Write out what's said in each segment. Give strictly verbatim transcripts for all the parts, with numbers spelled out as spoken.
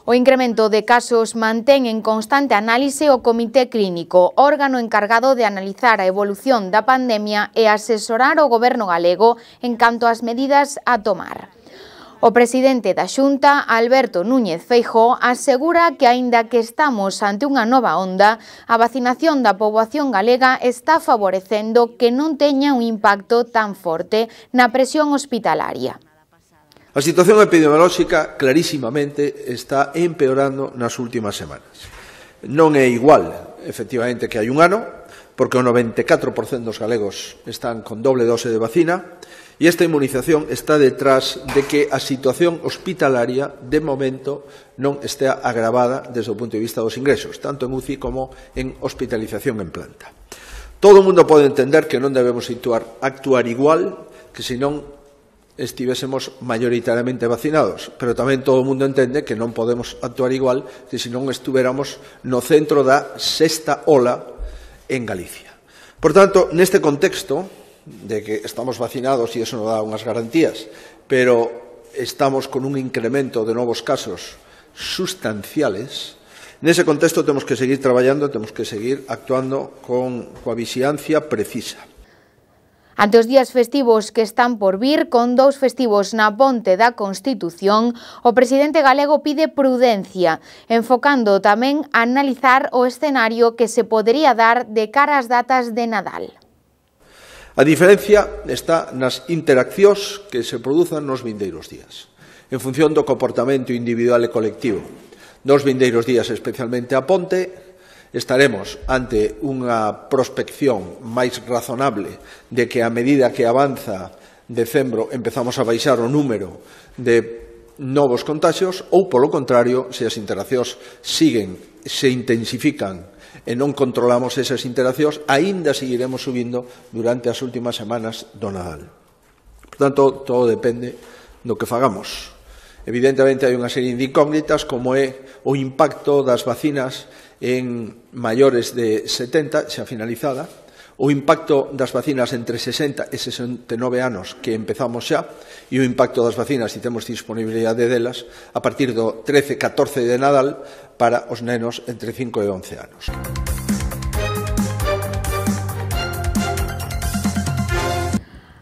O incremento de casos mantén en constante análise o Comité Clínico, órgano encargado de analizar a evolución da pandemia e asesorar o Goberno galego en canto ás medidas a tomar. O presidente da Xunta, Alberto Núñez Feijóo, asegura que, aínda que estamos ante unha nova onda, a vacinación da poboación galega está favorecendo que non teña un impacto tan forte na presión hospitalaria. A situación epidemiolóxica clarísimamente está empeorando nas últimas semanas. Non é igual, efectivamente, que hai un ano, porque o noventa e catro por cento dos galegos están con doble dose de vacina e esta inmunización está detrás de que a situación hospitalaria, de momento, non estea agravada desde o punto de vista dos ingresos, tanto en U C I como en hospitalización en planta. Todo o mundo pode entender que non debemos actuar, actuar igual que se non estivésemos maioritariamente vacinados, pero tamén todo o mundo entende que non podemos actuar igual que se non estuveramos no centro da sexta ola en Galicia. Por tanto, neste contexto de que estamos vacinados e iso nos dá unhas garantías, pero estamos con un incremento de novos casos sustanciales, nese contexto temos que seguir traballando, temos que seguir actuando con coa vixilancia precisa. Ante os días festivos que están por vir, con dous festivos na Ponte da Constitución, o presidente galego pide prudencia, enfocando tamén a analizar o escenario que se podería dar de cara ás datas de Nadal. A diferencia está nas interaccións que se produzan nos vindeiros días, en función do comportamento individual e colectivo. Nos vindeiros días, especialmente a Ponte, estaremos ante unha prospección máis razonable de que a medida que avanza decembro empezamos a baixar o número de novos contagios ou, polo contrario, se as interaccións siguen, se intensifican e non controlamos esas interaccións, aínda seguiremos subindo durante as últimas semanas do Nadal. Por tanto, todo depende do que fagamos. Evidentemente, hai unha serie de incógnitas como é o impacto das vacinas en maiores de setenta, xa finalizada, o impacto das vacinas entre sesenta e sesenta e nove anos que empezamos xa e o impacto das vacinas, se temos disponibilidade delas, a partir do trece catorce de Nadal para os nenos entre cinco e once anos.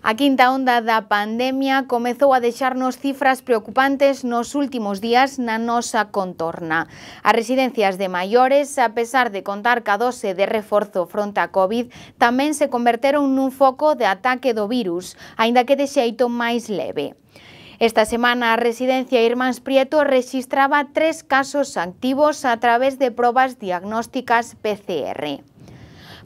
A quinta onda da pandemia comezou a deixarnos cifras preocupantes nos últimos días na nosa contorna. As residencias de maiores, a pesar de contar ca dose de reforzo fronte a COVID, tamén se converteron nun foco de ataque do virus, aínda que de xeito máis leve. Esta semana a residencia Irmáns Prieto rexistraba tres casos activos a través de probas diagnósticas P C R.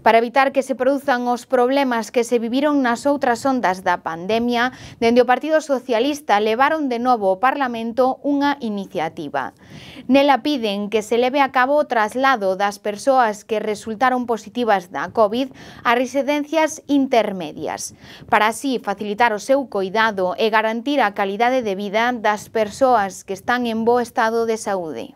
Para evitar que se produzan os problemas que se viviron nas outras ondas da pandemia, dende o Partido Socialista levaron de novo ao Parlamento unha iniciativa. Nela piden que se leve a cabo o traslado das persoas que resultaron positivas da COVID a residencias intermedias, para así facilitar o seu coidado e garantir a calidade de vida das persoas que están en bo estado de saúde.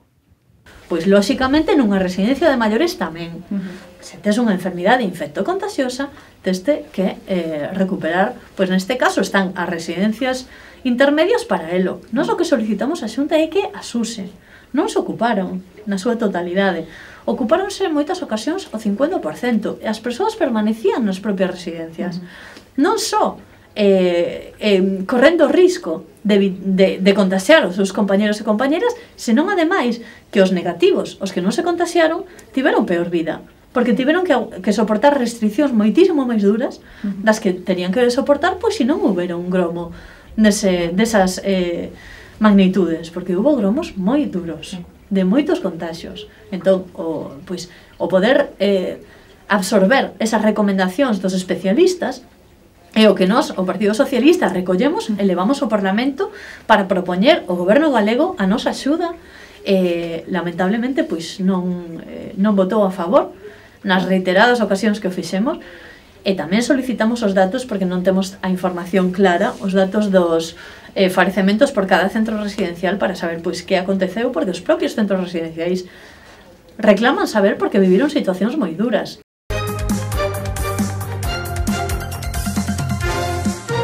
Pois, lóxicamente, nunha residencia de maiores tamén. Uh-huh. Se tes unha enfermidade infectocontagiosa, teste que eh, recuperar, pois neste caso están as residencias intermedias para elo. Nós o que solicitamos a Xunta é que as use. Non se ocuparon na súa totalidade. Ocupáronse en moitas ocasións o cincuenta por cento e as persoas permanecían nas propias residencias. Uh-huh. Non só eh, eh, correndo o risco de, de, de contaxiar os seus compañeros e compañeras, senón ademais que os negativos, os que non se contaxiaron, tiveron peor vida, porque tiveron que, que soportar restriccións moitísimo máis duras das que tenían que soportar, pois se non houbera un gromo nese, desas eh, magnitudes, porque hubo gromos moi duros, de moitos contaxios. Entón, o, pois, o poder eh, absorber esas recomendacións dos especialistas é o que nós, o Partido Socialista, recollemos e levamos ao Parlamento para propoñer ao Goberno galego a nosa axuda. Eh, lamentablemente, pois non, eh, non votou a favor nas reiteradas ocasións que o fixemos, e tamén solicitamos os datos porque non temos a información clara, os datos dos eh, falecementos por cada centro residencial para saber pois que aconteceu, porque os propios centros residenciais reclaman saber porque viviron situacións moi duras.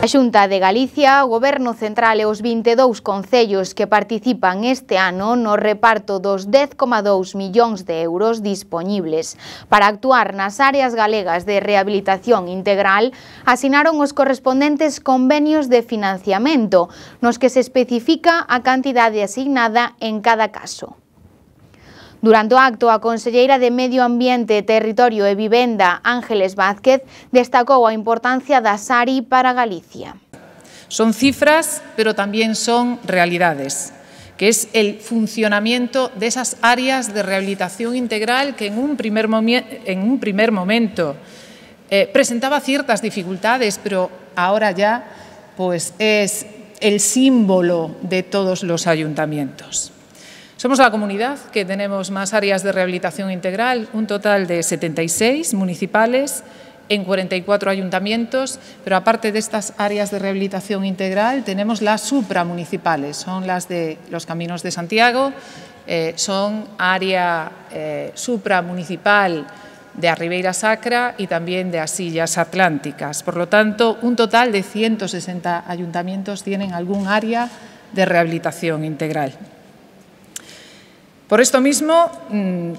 A Xunta de Galicia, o Goberno Central e os vinte e dous concellos que participan este ano no reparto dos dez coma dous millóns de euros dispoñibles para actuar nas áreas galegas de rehabilitación integral asinaron os correspondentes convenios de financiamento, nos que se especifica a cantidade asignada en cada caso. Durante o acto, a conselleira de Medio Ambiente, Territorio e Vivenda, Ángeles Vázquez, destacou a importancia da S A R I para Galicia. Son cifras, pero también son realidades, que es el funcionamiento de esas áreas de rehabilitación integral que en un primer, en un primer momento eh, presentaba ciertas dificultades, pero ahora ya pues, es el símbolo de todos los ayuntamientos. Somos la comunidad que tenemos más áreas de rehabilitación integral, un total de setenta y seis municipales en cuarenta y cuatro ayuntamientos, pero aparte de estas áreas de rehabilitación integral tenemos las supramunicipales, son las de los Caminos de Santiago, eh, son área eh, supramunicipal de a Ribeira Sacra y también de as Illas Atlánticas. Por lo tanto, un total de ciento sesenta ayuntamientos tienen algún área de rehabilitación integral. Por esto mismo,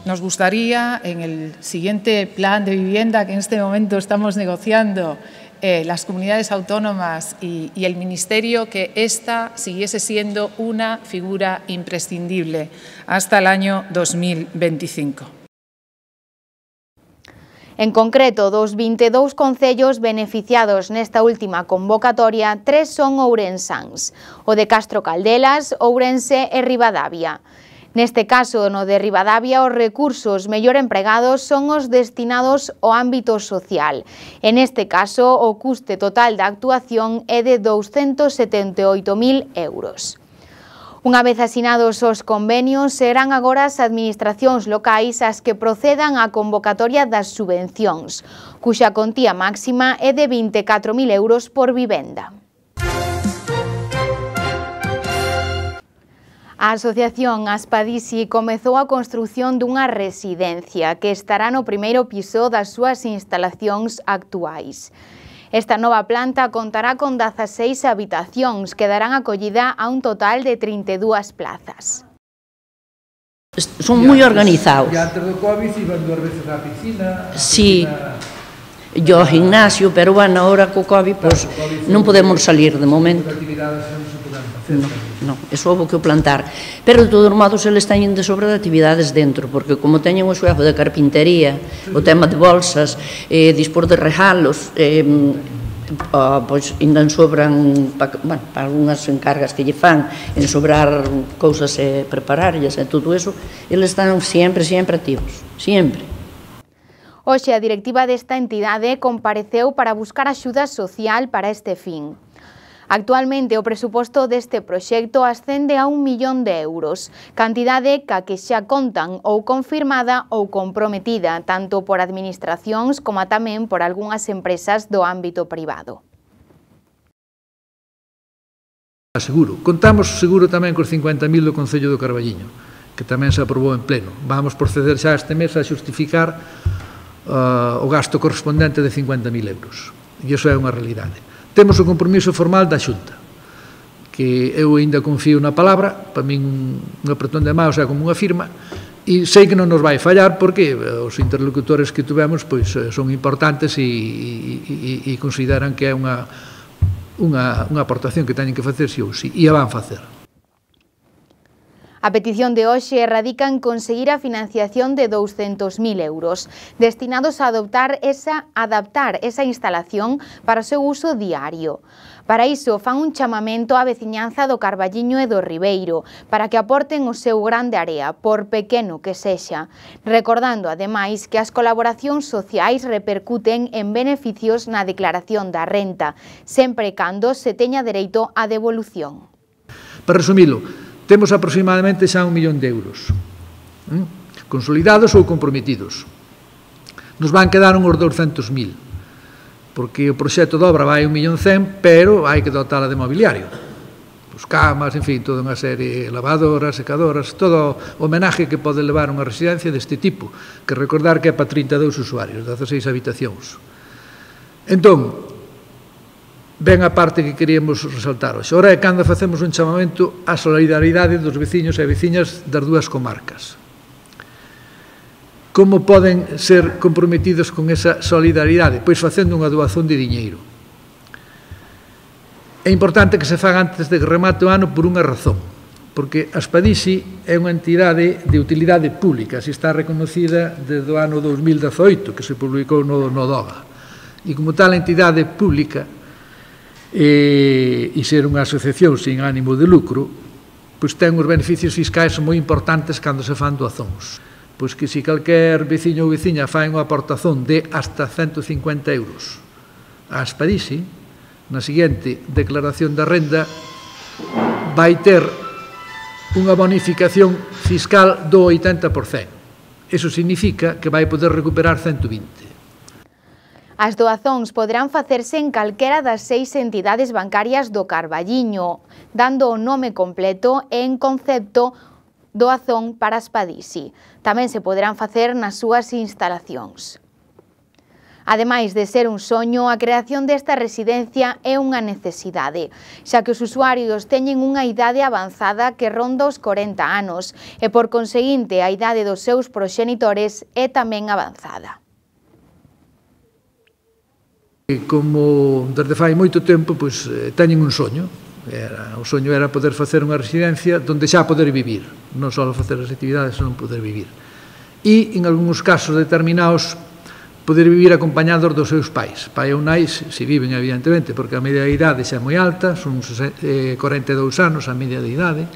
nos gustaría, en el siguiente plan de vivienda que en este momento estamos negociando eh, las comunidades autónomas y, y el Ministerio, que esta siguiese siendo una figura imprescindible hasta el año dos mil veinticinco. En concreto, dos vinte e dous concellos beneficiados nesta última convocatoria, tres son ourensáns, o de Castro Caldelas, Ourense e Ribadavia. Neste caso, no de Ribadavia, os recursos mellor empregados son os destinados ao ámbito social. En este caso, o custe total da actuación é de douscentos setenta e oito mil euros. Unha vez asinados os convenios, serán agora as administracións locais as que procedan á convocatoria das subvencións, cuxa contía máxima é de vinte e catro mil euros por vivenda. A Asociación Aspadisi comezou a construción dunha residencia que estará no primeiro piso das súas instalacións actuais. Esta nova planta contará con dezaseis habitacións que darán acollida a un total de trinta e dúas plazas. Son moi organizados. E antes do COVID iban dúas veces á piscina. Sí, yo ao gimnasio, pero bueno, ahora co COVID pues, non podemos salir de momento. No, no, eso houve que o plantar. Pero de todos modos eles teñen de sobra de actividades dentro, porque como teñen o xuego de carpintería, o tema de bolsas, eh, dispor de regalos, eh, oh, pois ainda sobran, pa, bueno, para algunhas encargas que lle fan, en sobrar cousas e prepararlas e todo eso, eles están sempre, sempre activos, sempre. Hoxe a directiva desta entidade compareceu para buscar axuda social para este fin. Actualmente o presuposto deste proxecto ascende a un millón de euros, cantidade ca que xa contan ou confirmada ou comprometida tanto por administracións como tamén por algunhas empresas do ámbito privado. Seguro. Contamos seguro tamén cos cincuenta mil do Concello do Carballiño, que tamén se aprobou en pleno. Vamos proceder xa este mes a xustificar uh, o gasto correspondente de cincuenta mil euros. E iso é unha realidade. Temos o compromiso formal da Xunta, que eu ainda confío na palabra, para min un apretón de mãos é como unha firma, e sei que non nos vai fallar porque os interlocutores que tuvemos pois, son importantes e, e, e consideran que é unha, unha, unha aportación que teñen que facer si ou si, e a van facer. A petición de hoxe radica en conseguir a financiación de douscentos mil euros, destinados a adoptar esa, adaptar esa instalación para o seu uso diario. Para iso, fan un chamamento á veciñanza do Carballiño e do Ribeiro, para que aporten o seu grande area, por pequeno que sexa, recordando, ademais, que as colaboracións sociais repercuten en beneficios na declaración da renta, sempre e cando se teña dereito á devolución. Para resumilo, temos aproximadamente xa un millón de euros, ¿eh? consolidados ou comprometidos. Nos van quedar uns douscentos mil, porque o proxecto de obra vai un millón cen, pero hai que dotala de mobiliario. Pues camas, en fin, toda unha serie, lavadoras, secadoras, todo o homenaje que pode levar unha residencia deste tipo, que recordar que é para trinta e dous usuarios, dezaseis habitacións. Entón, ben a parte que queríamos resaltar hoxe. Ora é cando facemos un chamamento á solidaridade dos veciños e veciñas das dúas comarcas. Como poden ser comprometidos con esa solidaridade? Pois facendo unha doación de diñeiro. É importante que se faga antes de que remate o ano por unha razón, porque a Aspadici é unha entidade de utilidade pública, así está reconocida desde o ano dous mil dezoito, que se publicou no, no DOGA. E como tal entidade pública e, e ser unha asociación sin ánimo de lucro, pois ten uns beneficios fiscais moi importantes cando se fan doazóns. Pois que se calquer veciño ou veciña fai unha aportación de hasta ciento cincuenta euros a Aspadici, na seguinte declaración da renda vai ter unha bonificación fiscal do oitenta por cento. Iso significa que vai poder recuperar ciento vinte. As doazóns poderán facerse en calquera das seis entidades bancarias do Carballiño, dando o nome completo e en concepto doazón para Aspadici. Tamén se poderán facer nas súas instalacións. Ademais de ser un soño, a creación desta residencia é unha necesidade, xa que os usuarios teñen unha idade avanzada que ronda os corenta anos e, por conseguinte, a idade dos seus proxenitores é tamén avanzada. Como desde fai moito tempo, pois, teñen un soño. Era, o soño era poder facer unha residencia onde xa poder vivir, non só facer as actividades, senón poder vivir. E, en algúns casos determinados, poder vivir acompañados dos seus pais. Pai ou nai, se viven, evidentemente, porque a media de idade xa é moi alta, son corenta e dous anos a media de idade,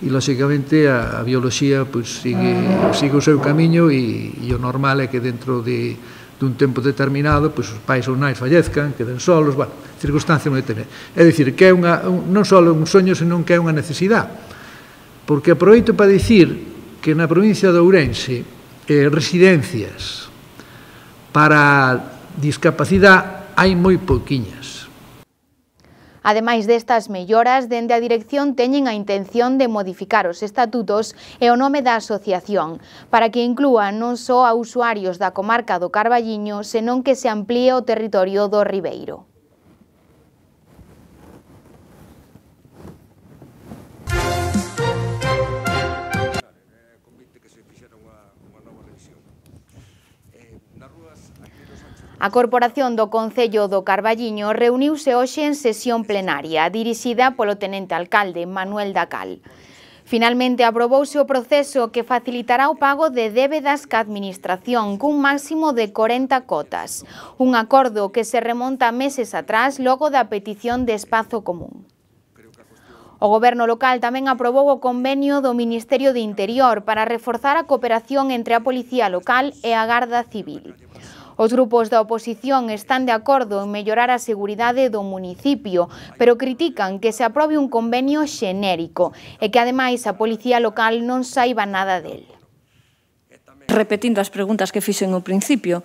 e, lóxicamente, a, a bioloxía pois, sigue, sigue o seu camiño e, e o normal é que dentro de, de un tempo determinado pois, os pais ou nais fallezcan, queden solos, bueno, circunstancias moi determinadas. É dicir, que é unha, un, non só un soño, senón que é unha necesidade. Porque aproveito para dicir que na provincia de Ourense, eh, residencias para discapacidade hai moi pouquiñas. Ademais destas melloras, dende a dirección teñen a intención de modificar os estatutos e o nome da asociación, para que inclúa non só a usuarios da comarca do Carballiño, senón que se amplíe o territorio do Ribeiro. A Corporación do Concello do Carballiño reuniuse hoxe en sesión plenaria, dirixida polo tenente alcalde Manuel Dacal. Finalmente aprobouse o proceso que facilitará o pago de débedas ca administración cun máximo de corenta cotas, un acordo que se remonta meses atrás logo da petición de espazo común. O Goberno local tamén aprobou o convenio do Ministerio de Interior para reforzar a cooperación entre a Policía Local e a Garda Civil. Os grupos da oposición están de acordo en mellorar a seguridade do municipio, pero critican que se aprobe un convenio xenérico e que, ademais, a Policía Local non saiba nada del. Repetindo as preguntas que fixen ao principio,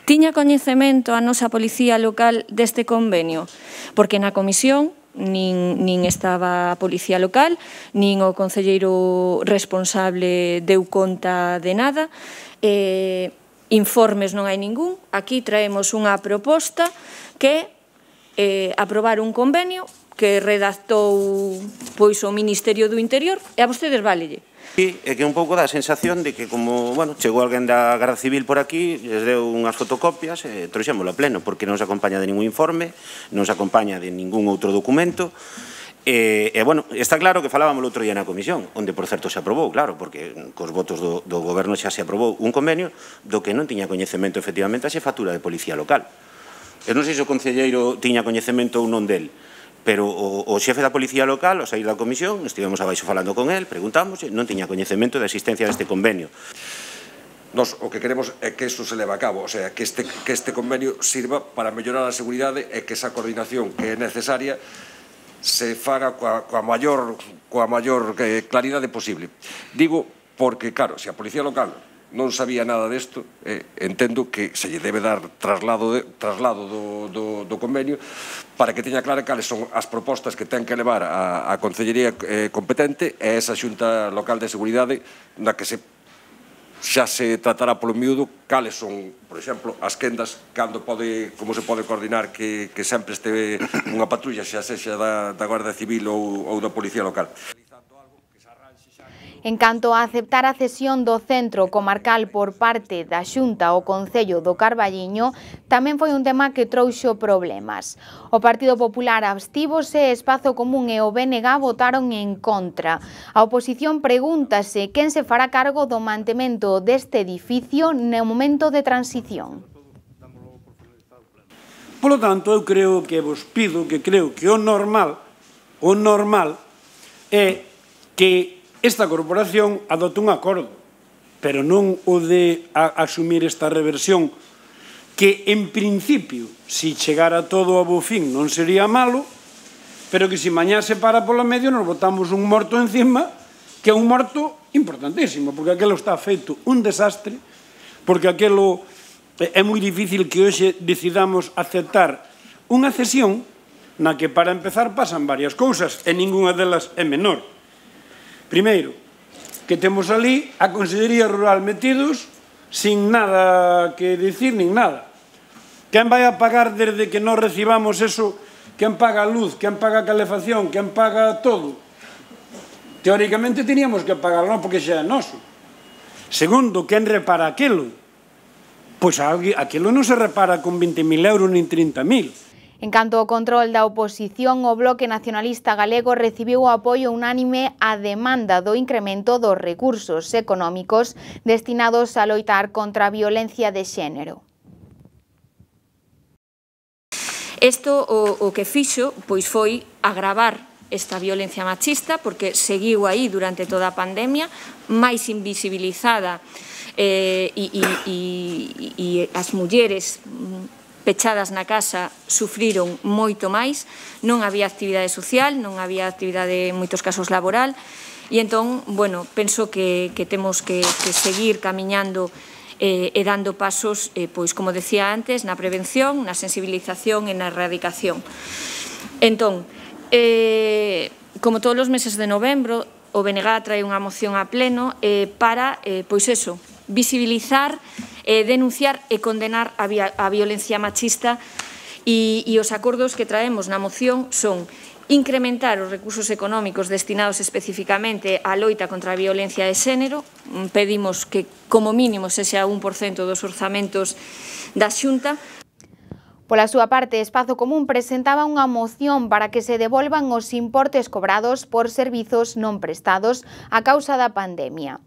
tiña coñecemento a nosa Policía Local deste convenio? Porque na comisión nin, nin estaba a Policía Local, nin o concelleiro responsable deu conta de nada, e informes non hai ningún. Aquí traemos unha proposta que é aprobar un convenio que redactou pois o Ministerio do Interior e a vostedes válelle. Sí, é que un pouco dá a sensación de que como, bueno, chegou alguén da Garda Civil por aquí, les deu unhas fotocopias e trouxémolo a pleno, porque non se acompaña de ningún informe, non se acompaña de ningún outro documento. E, e, bueno, está claro que falábamos o outro día na comisión, onde, por certo, se aprobou, claro, porque cos votos do, do goberno xa se aprobou un convenio do que non tiña coñecemento, efectivamente, a xefatura de Policía Local. Eu non sei se o concelleiro tiña coñecemento ou non del, pero o, o xefe da Policía Local, ao sair da comisión, estivemos abaixo falando con el, preguntamos, non tiña coñecemento da existencia deste convenio. Nos o que queremos é que isto se leve a cabo, o sea, que este, que este convenio sirva para mellorar a seguridade e que esa coordinación que é necesaria se faga coa, coa maior, coa maior eh, claridade posible. Digo porque, claro, se a Policía Local non sabía nada desto, eh, entendo que se lle debe dar traslado, de, traslado do, do, do convenio para que teña clara cales son as propostas que ten que levar a, a Concellería eh, competente e esa Xunta Local de Seguridade na que se xa se tratará polo miúdo cales son, por exemplo, as quendas, cando pode, como se pode coordinar que, que sempre este unha patrulla xa sexa da, da Guardia Civil ou, ou da Policía Local. En canto a aceptar a cesión do centro comarcal por parte da Xunta ao Concello do Carballiño, tamén foi un tema que trouxo problemas. O Partido Popular abstívose, Espazo Común e o B N G votaron en contra. A oposición pregúntase quen se fará cargo do mantemento deste edificio no momento de transición. Polo tanto, eu creo que vos pido que creo que o normal, o normal é que esta corporación adote un acordo, pero non o de a, asumir esta reversión, que en principio, si chegara todo a bo fin, non sería malo, pero que si mañá se para polo medio nos botamos un morto encima, que é un morto importantísimo, porque aquelo está feito un desastre, porque aquelo é moi difícil que hoxe decidamos aceptar unha cesión na que para empezar pasan varias cousas e ninguna delas é menor. Primeiro, que temos ali a Consellería Rural metidos sin nada que dicir nin nada. Quen vai a pagar desde que non recibamos eso? Quen paga a luz? Quen paga a calefacción? Quen paga todo? Teóricamente teníamos que pagarlo, non porque xa é noso. Segundo, quen repara aquilo? Pois aquilo non se repara con vinte mil euros nin trinta mil. En canto ao control da oposición, o Bloque Nacionalista Galego recibiu o apoio unánime á demanda do incremento dos recursos económicos destinados a loitar contra a violencia de xénero. Isto o, o que fixo pois foi agravar esta violencia machista, porque seguiu aí durante toda a pandemia, máis invisibilizada, eh, e, e, e, e as mulleres pechadas na casa sufriron moito máis, non había actividade social, non había actividade en moitos casos laboral, e entón, bueno, penso que, que temos que, que seguir camiñando eh, e dando pasos, eh, pois, como decía antes, na prevención, na sensibilización e na erradicación. Entón, eh, como todos os meses de novembro, o B N G trae unha moción a pleno eh, para, eh, pois eso, visibilizar, eh, denunciar e condenar a, a violencia machista, e, e os acordos que traemos na moción son incrementar os recursos económicos destinados especificamente á loita contra a violencia de xénero. Pedimos que, como mínimo, sexa un por cento dos orzamentos da Xunta. Pola súa parte, Espazo Común presentaba unha moción para que se devolvan os importes cobrados por servizos non prestados a causa da pandemia.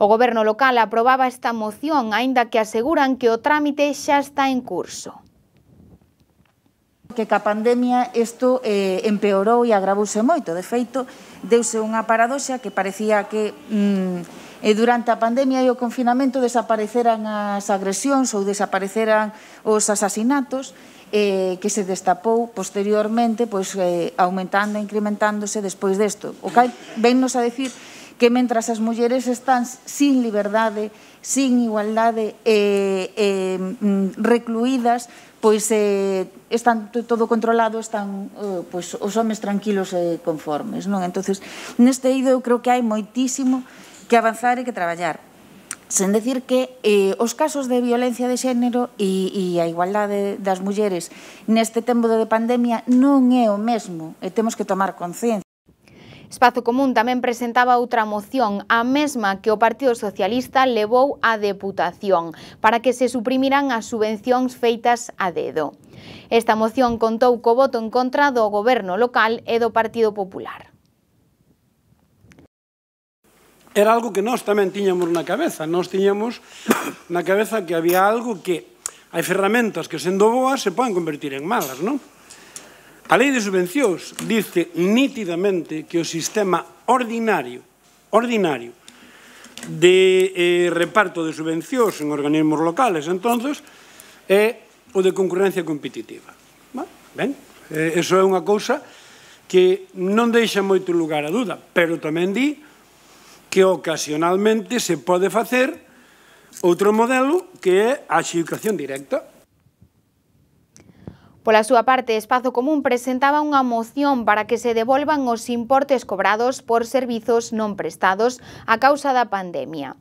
O Goberno local aprobaba esta moción, aínda que aseguran que o trámite xa está en curso. Que ca pandemia isto eh, empeorou e agravouse moito. De feito, deuse unha paradoxa que parecía que mm, e durante a pandemia e o confinamento desapareceran as agresións ou desapareceran os asasinatos, eh, que se destapou posteriormente, pois, eh, aumentando e incrementándose despois desto. O que vennos a decir que mentras as mulleres están sin liberdade, sin igualdade, eh, eh, recluídas, pois eh, están todo controlado, están eh, pois, os homes tranquilos e conformes, non? Entonces, neste eido eu creo que hai moitísimo que avanzar e que traballar. Sen decir que eh, os casos de violencia de xénero e, e a igualdade das mulleres neste tempo de pandemia non é o mesmo e temos que tomar conciencia. Espazo Común tamén presentaba outra moción, a mesma que o Partido Socialista levou á Deputación, para que se suprimiran as subvencións feitas a dedo. Esta moción contou co voto en contra do Goberno local e do Partido Popular. Era algo que nós tamén tiñamos na cabeza. Nós tiñamos na cabeza que había algo que hai ferramentas que, sendo boas, se poden convertir en malas, non? A lei de subvencións dice nítidamente que o sistema ordinario, ordinario de eh, reparto de subvencións en organismos locales, entonces, é o de concurrencia competitiva. Ben, eh, eso é unha cousa que non deixa moito lugar a duda, pero tamén di que ocasionalmente se pode facer outro modelo que é a adxudicación directa. Pola súa parte, Espazo Común presentaba unha moción para que se devolvan os importes cobrados por servizos non prestados a causa da pandemia.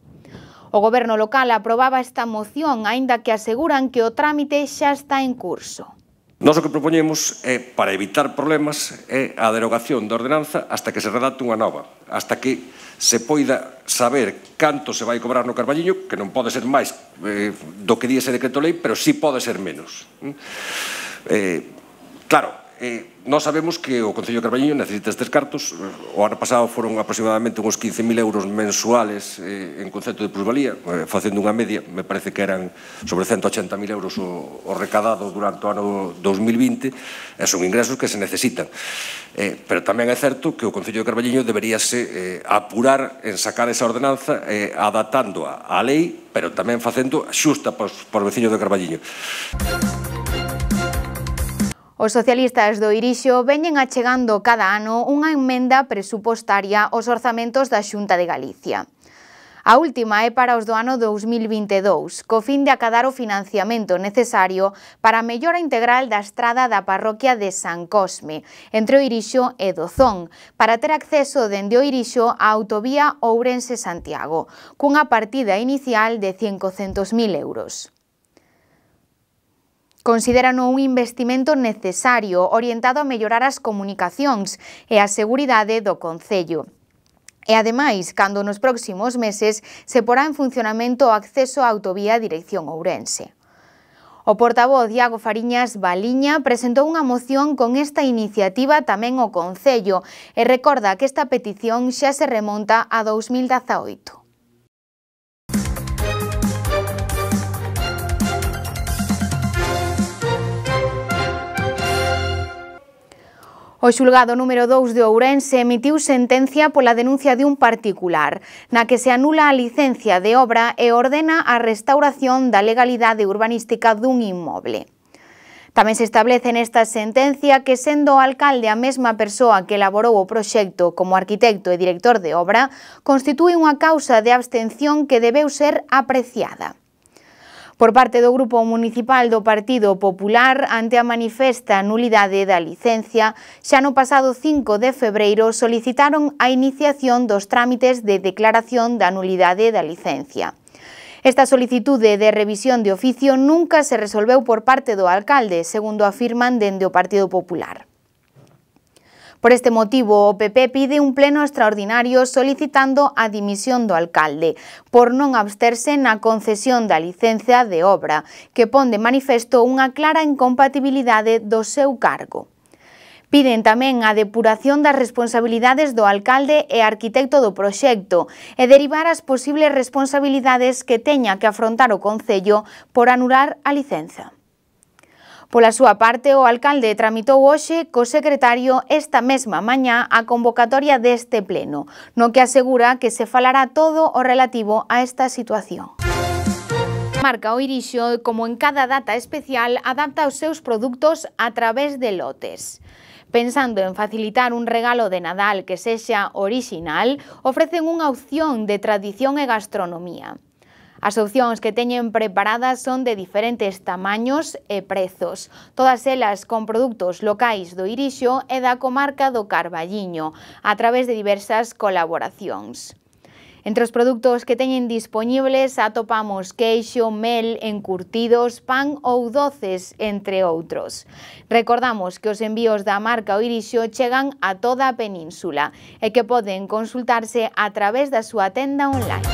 O Goberno local aprobaba esta moción, aínda que aseguran que o trámite xa está en curso. Nós o que propoñemos é, para evitar problemas, é a derogación da ordenanza hasta que se redacte unha nova, hasta que se poida saber canto se vai cobrar no Carballiño, que non pode ser máis eh, do que di ese decreto lei, pero sí pode ser menos. Eh, claro, eh, nós sabemos que o Concello de Carballiño necesita estes cartos. O ano pasado foron aproximadamente uns quince mil euros mensuales eh, en concepto de plusvalía, eh, facendo unha media, me parece que eran sobre ciento ochenta mil euros o, o recadado durante o ano dos mil vinte, e son ingresos que se necesitan. Eh, pero tamén é certo que o Concello de Carballiño deberíase eh, apurar en sacar esa ordenanza, eh, adaptando a, a lei, pero tamén facendo xusta por, por veciños de Carballiño. Os socialistas do Irixo veñen achegando cada ano unha emenda presupostaria aos orzamentos da Xunta de Galicia. A última é para os do ano dous mil vinte e dous, co fin de acadar o financiamento necesario para a mellora integral da estrada da parroquia de San Cosme, entre o Irixo e Dozón, para ter acceso dende o Irixo á autovía Ourense-Santiago, cunha partida inicial de cincocentos mil euros. Consideran un investimento necesario orientado a mellorar as comunicacións e a seguridade do concello. E, ademais, cando nos próximos meses se porá en funcionamento o acceso á autovía dirección Ourense. O portavoz Iago Fariñas Baliña presentou unha moción con esta iniciativa tamén ao Concello e recorda que esta petición xa se remonta a dous mil dezaoito. O xulgado número dous de Ourense emitiu sentencia pola denuncia de un particular, na que se anula a licencia de obra e ordena a restauración da legalidade urbanística dun inmoble. Tamén se establece nesta sentencia que, sendo o alcalde a mesma persoa que elaborou o proxecto como arquitecto e director de obra, constitúe unha causa de abstención que debeu ser apreciada. Por parte do Grupo Municipal do Partido Popular, ante a manifesta nulidade da licencia, xa no pasado cinco de febreiro solicitaron a iniciación dos trámites de declaración da nulidade da licencia. Esta solicitude de revisión de oficio nunca se resolveu por parte do alcalde, segundo afirman dende o Partido Popular. Por este motivo, o P P pide un pleno extraordinario solicitando a dimisión do alcalde por non absterse na concesión da licencia de obra, que pon de manifesto unha clara incompatibilidade do seu cargo. Piden tamén a depuración das responsabilidades do alcalde e arquitecto do proxecto e derivar as posibles responsabilidades que teña que afrontar o Concello por anular a licenza. Pola súa parte, o alcalde tramitou hoxe co secretario esta mesma mañá a convocatoria deste pleno, no que asegura que se falará todo o relativo a esta situación. Marca o Irixo, como en cada data especial, adapta os seus produtos a través de lotes. Pensando en facilitar un regalo de Nadal que sexa orixinal, ofrecen unha opción de tradición e gastronomía. As opcións que teñen preparadas son de diferentes tamaños e prezos, todas elas con produtos locais do Irixo e da comarca do Carballiño, a través de diversas colaboracións. Entre os produtos que teñen dispoñibles atopamos queixo, mel, encurtidos, pan ou doces, entre outros. Recordamos que os envíos da marca o Irixo chegan a toda a península e que poden consultarse a través da súa tenda online.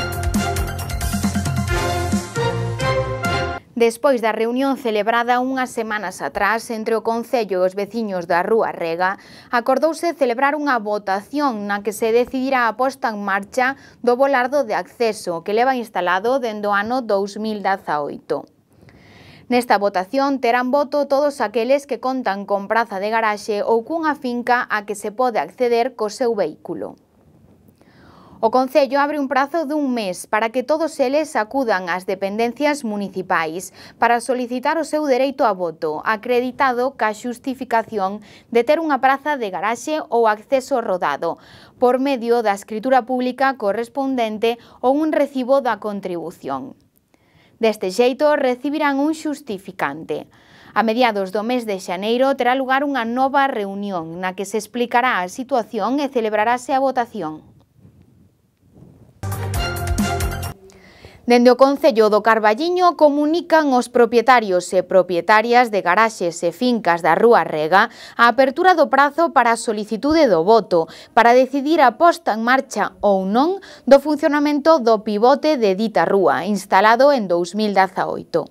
Despois da reunión celebrada unhas semanas atrás entre o Concello e os veciños da Rúa Rega, acordouse celebrar unha votación na que se decidirá a posta en marcha do volardo de acceso que leva instalado dende o ano dous mil dezaoito. Nesta votación terán voto todos aqueles que contan con praza de garaxe ou cunha finca a que se pode acceder co seu vehículo. O Concello abre un prazo dun mes para que todos eles acudan ás dependencias municipais para solicitar o seu dereito a voto, acreditado ca xustificación de ter unha praza de garaxe ou acceso rodado, por medio da escritura pública correspondente ou un recibo da contribución. Deste xeito, recibirán un xustificante. A mediados do mes de xaneiro terá lugar unha nova reunión na que se explicará a situación e celebrarase a votación. Dende o Concello do Carballiño comunican os propietarios e propietarias de garaxes e fincas da Rúa Rega a apertura do prazo para a solicitude do voto para decidir a posta en marcha ou non do funcionamento do pivote de dita rúa, instalado en dous mil dezaoito.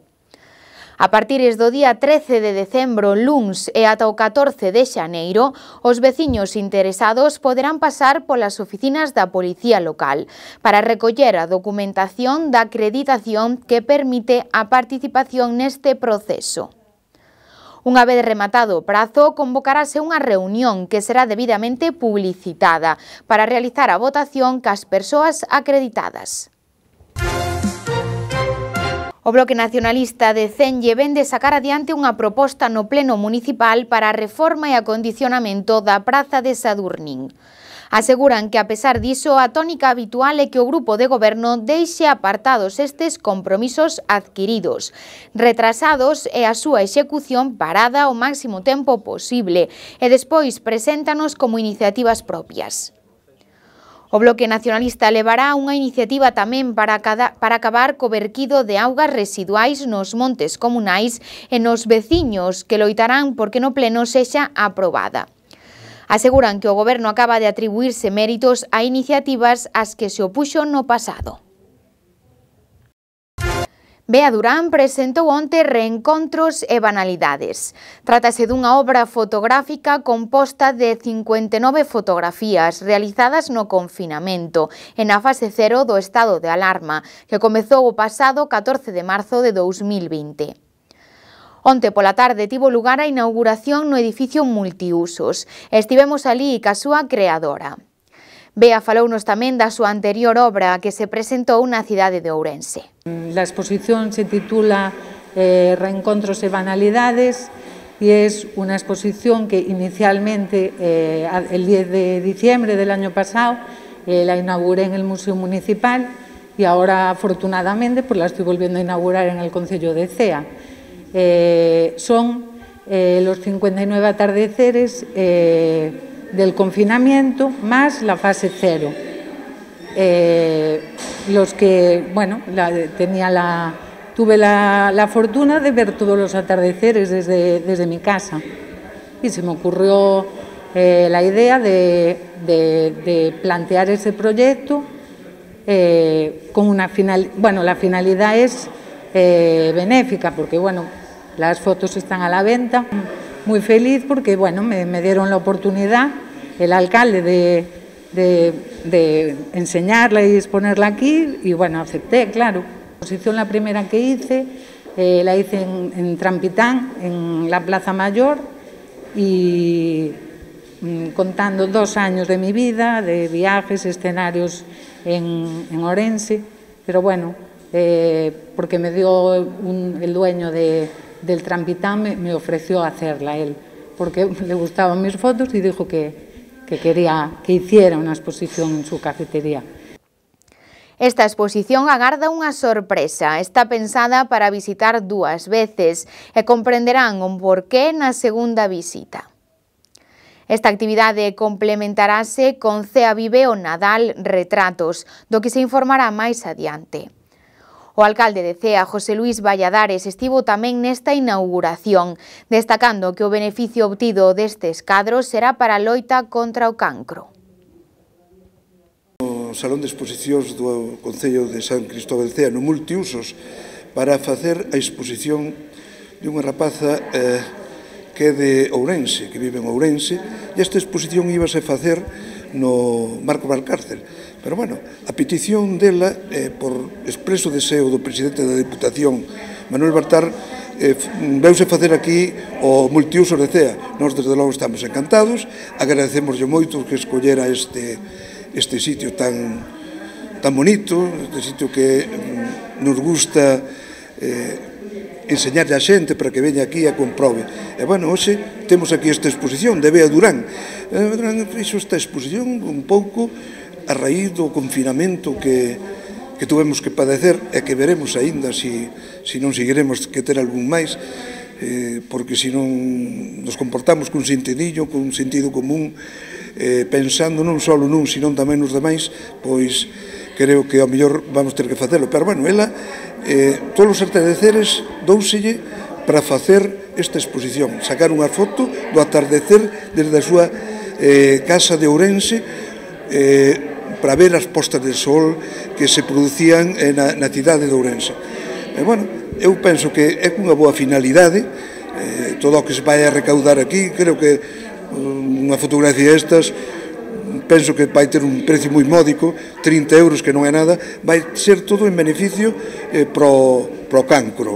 A partir do día trece de decembro, luns, e ata o catorce de xaneiro, os veciños interesados poderán pasar polas oficinas da Policía Local para recoller a documentación da acreditación que permite a participación neste proceso. Unha vez rematado o prazo, convocarase unha reunión que será debidamente publicitada para realizar a votación cas persoas acreditadas. O Bloque Nacionalista de Cenlle vende sacar adiante unha proposta no Pleno Municipal para a reforma e acondicionamento da Praza de Sadurnín. Aseguran que, a pesar diso, a tónica habitual é que o grupo de goberno deixe apartados estes compromisos adquiridos, retrasados e a súa execución parada o máximo tempo posible e despois preséntanos como iniciativas propias. O Bloque Nacionalista levará unha iniciativa tamén para, cada, para acabar co verquido de augas residuais nos montes comunais e nos veciños que loitarán porque no pleno sexa aprobada. Aseguran que o goberno acaba de atribuirse méritos a iniciativas ás que se opuxo no pasado. Bea Durán presentou onte Reencontros e banalidades. Trátase dunha obra fotográfica composta de cincuenta e nove fotografías realizadas no confinamento e na fase cero do estado de alarma, que comezou o pasado catorce de marzo de dous mil vinte. Onte pola tarde tivo lugar a inauguración no edificio multiusos. Estivemos ali ca súa creadora. Bea falounos tamén da súa anterior obra que se presentou na cidade de Ourense. La exposición se titula eh, Reencontros e banalidades y es una exposición que inicialmente eh, el diez de diciembre del año pasado eh, la inauguré en el Museo Municipal y ahora afortunadamente pues la estoy volviendo a inaugurar en el Concello de Cea. Eh, son eh, los cincuenta y nueve atardeceres eh, del confinamiento más la fase cero. Eh, los que, bueno, la, tenía la, tuve la, la fortuna de ver todos los atardeceres desde, desde mi casa y se me ocurrió eh, la idea de, de, de plantear ese proyecto eh, con una final, bueno, la finalidad es eh, benéfica porque, bueno, las fotos están a la venta. Muy feliz porque, bueno, me, me dieron la oportunidad, el alcalde, de, de, de enseñarla y exponerla aquí y, bueno, acepté, claro. La exposición, la primera que hice, eh, la hice en, en Trampitán, en la Plaza Mayor y mm, contando dos años de mi vida, de viajes, escenarios en, en Ourense, pero bueno, eh, porque me dio un, el dueño de... del Trampitán me, me ofreció hacerla él, porque le gustaban mis fotos y dijo que, que quería que hiciera una exposición en su cafetería. Esta exposición agarda unha sorpresa. Está pensada para visitar dúas veces e comprenderán o porqué na segunda visita. Esta actividade complementarase con Cea Vive o Nadal Retratos, do que se informará máis adiante. O alcalde de Cea, José Luis Valladares, estivo tamén nesta inauguración, destacando que o beneficio obtido destes cadros será para a loita contra o cancro. O Salón de Exposicións do Concello de San Cristóbal de Cea, no multiusos, para facer a exposición de unha rapaza eh, que é de Ourense, que vive en Ourense, e esta exposición íbase a facer no Marco Valcárcel. Pero, bueno, a petición dela, eh, por expreso deseo do presidente da Diputación, Manuel Bartar, eh, veuse facer aquí o multiuso de Cea. Nós, desde logo, estamos encantados, agradecemoslle moito que escollera este, este sitio tan, tan bonito, este sitio que mm, nos gusta eh, enseñarle a xente para que veña aquí a comprobe. E, bueno, hoxe temos aquí esta exposición de Bea Durán. Bea Durán fixo esta exposición un pouco a raíz do confinamento que, que tuvemos que padecer e que veremos aínda se si, si non seguiremos que ter algún máis, eh, porque se non nos comportamos con sentidillo, con sentido común, eh, pensando non só nun, sino tamén nos demais, pois creo que ao mellor vamos ter que facelo, pero bueno, ela eh, todos os atardeceres douselle para facer esta exposición, sacar unha foto do atardecer desde a súa eh, casa de Ourense eh, para ver as postas de sol que se producían na, na cidade de Ourense. E, bueno, eu penso que é unha boa finalidade, eh, todo o que se vai a recaudar aquí, creo que unha fotografía estas, penso que vai ter un precio moi módico, trinta euros, que non é nada, vai ser todo en beneficio eh, pro, pro cancro.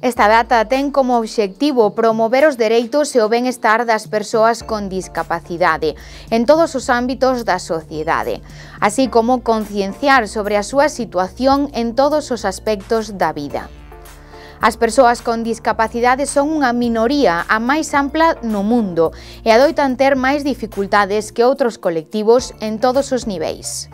Esta data ten como obxectivo promover os dereitos e o benestar das persoas con discapacidade en todos os ámbitos da sociedade, así como concienciar sobre a súa situación en todos os aspectos da vida. As persoas con discapacidade son unha minoría a máis ampla no mundo e adoitan ter máis dificultades que outros colectivos en todos os niveis.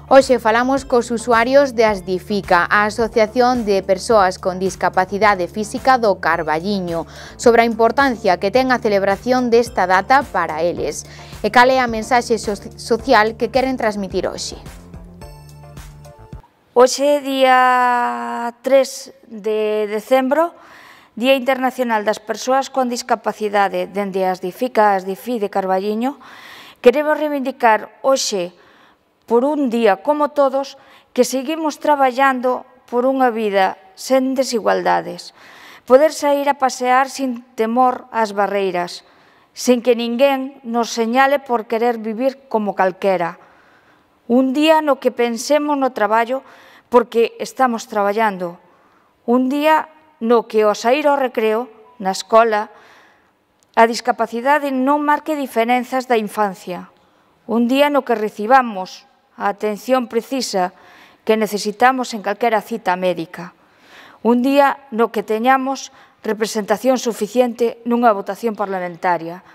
Hoxe falamos cos usuarios de Asdifica, a Asociación de Persoas con Discapacidade Física do Carballiño, sobre a importancia que ten a celebración desta data para eles e cal é a mensaxe social que queren transmitir hoxe. Hoxe, día tres de decembro, Día Internacional das Persoas con Discapacidade, dende Asdifica, Asdifi de Carballiño, queremos reivindicar hoxe por un día como todos, que seguimos traballando por unha vida sen desigualdades, poder sair a pasear sin temor ás barreiras, sin que ninguén nos señale por querer vivir como calquera. Un día no que pensemos no traballo porque estamos traballando. Un día no que ao sair ao recreo, na escola, a discapacidade non marque diferenzas da infancia. Un día no que recibamos a atención precisa que necesitamos en calquera cita médica. Un día no que teñamos representación suficiente nunha votación parlamentaria.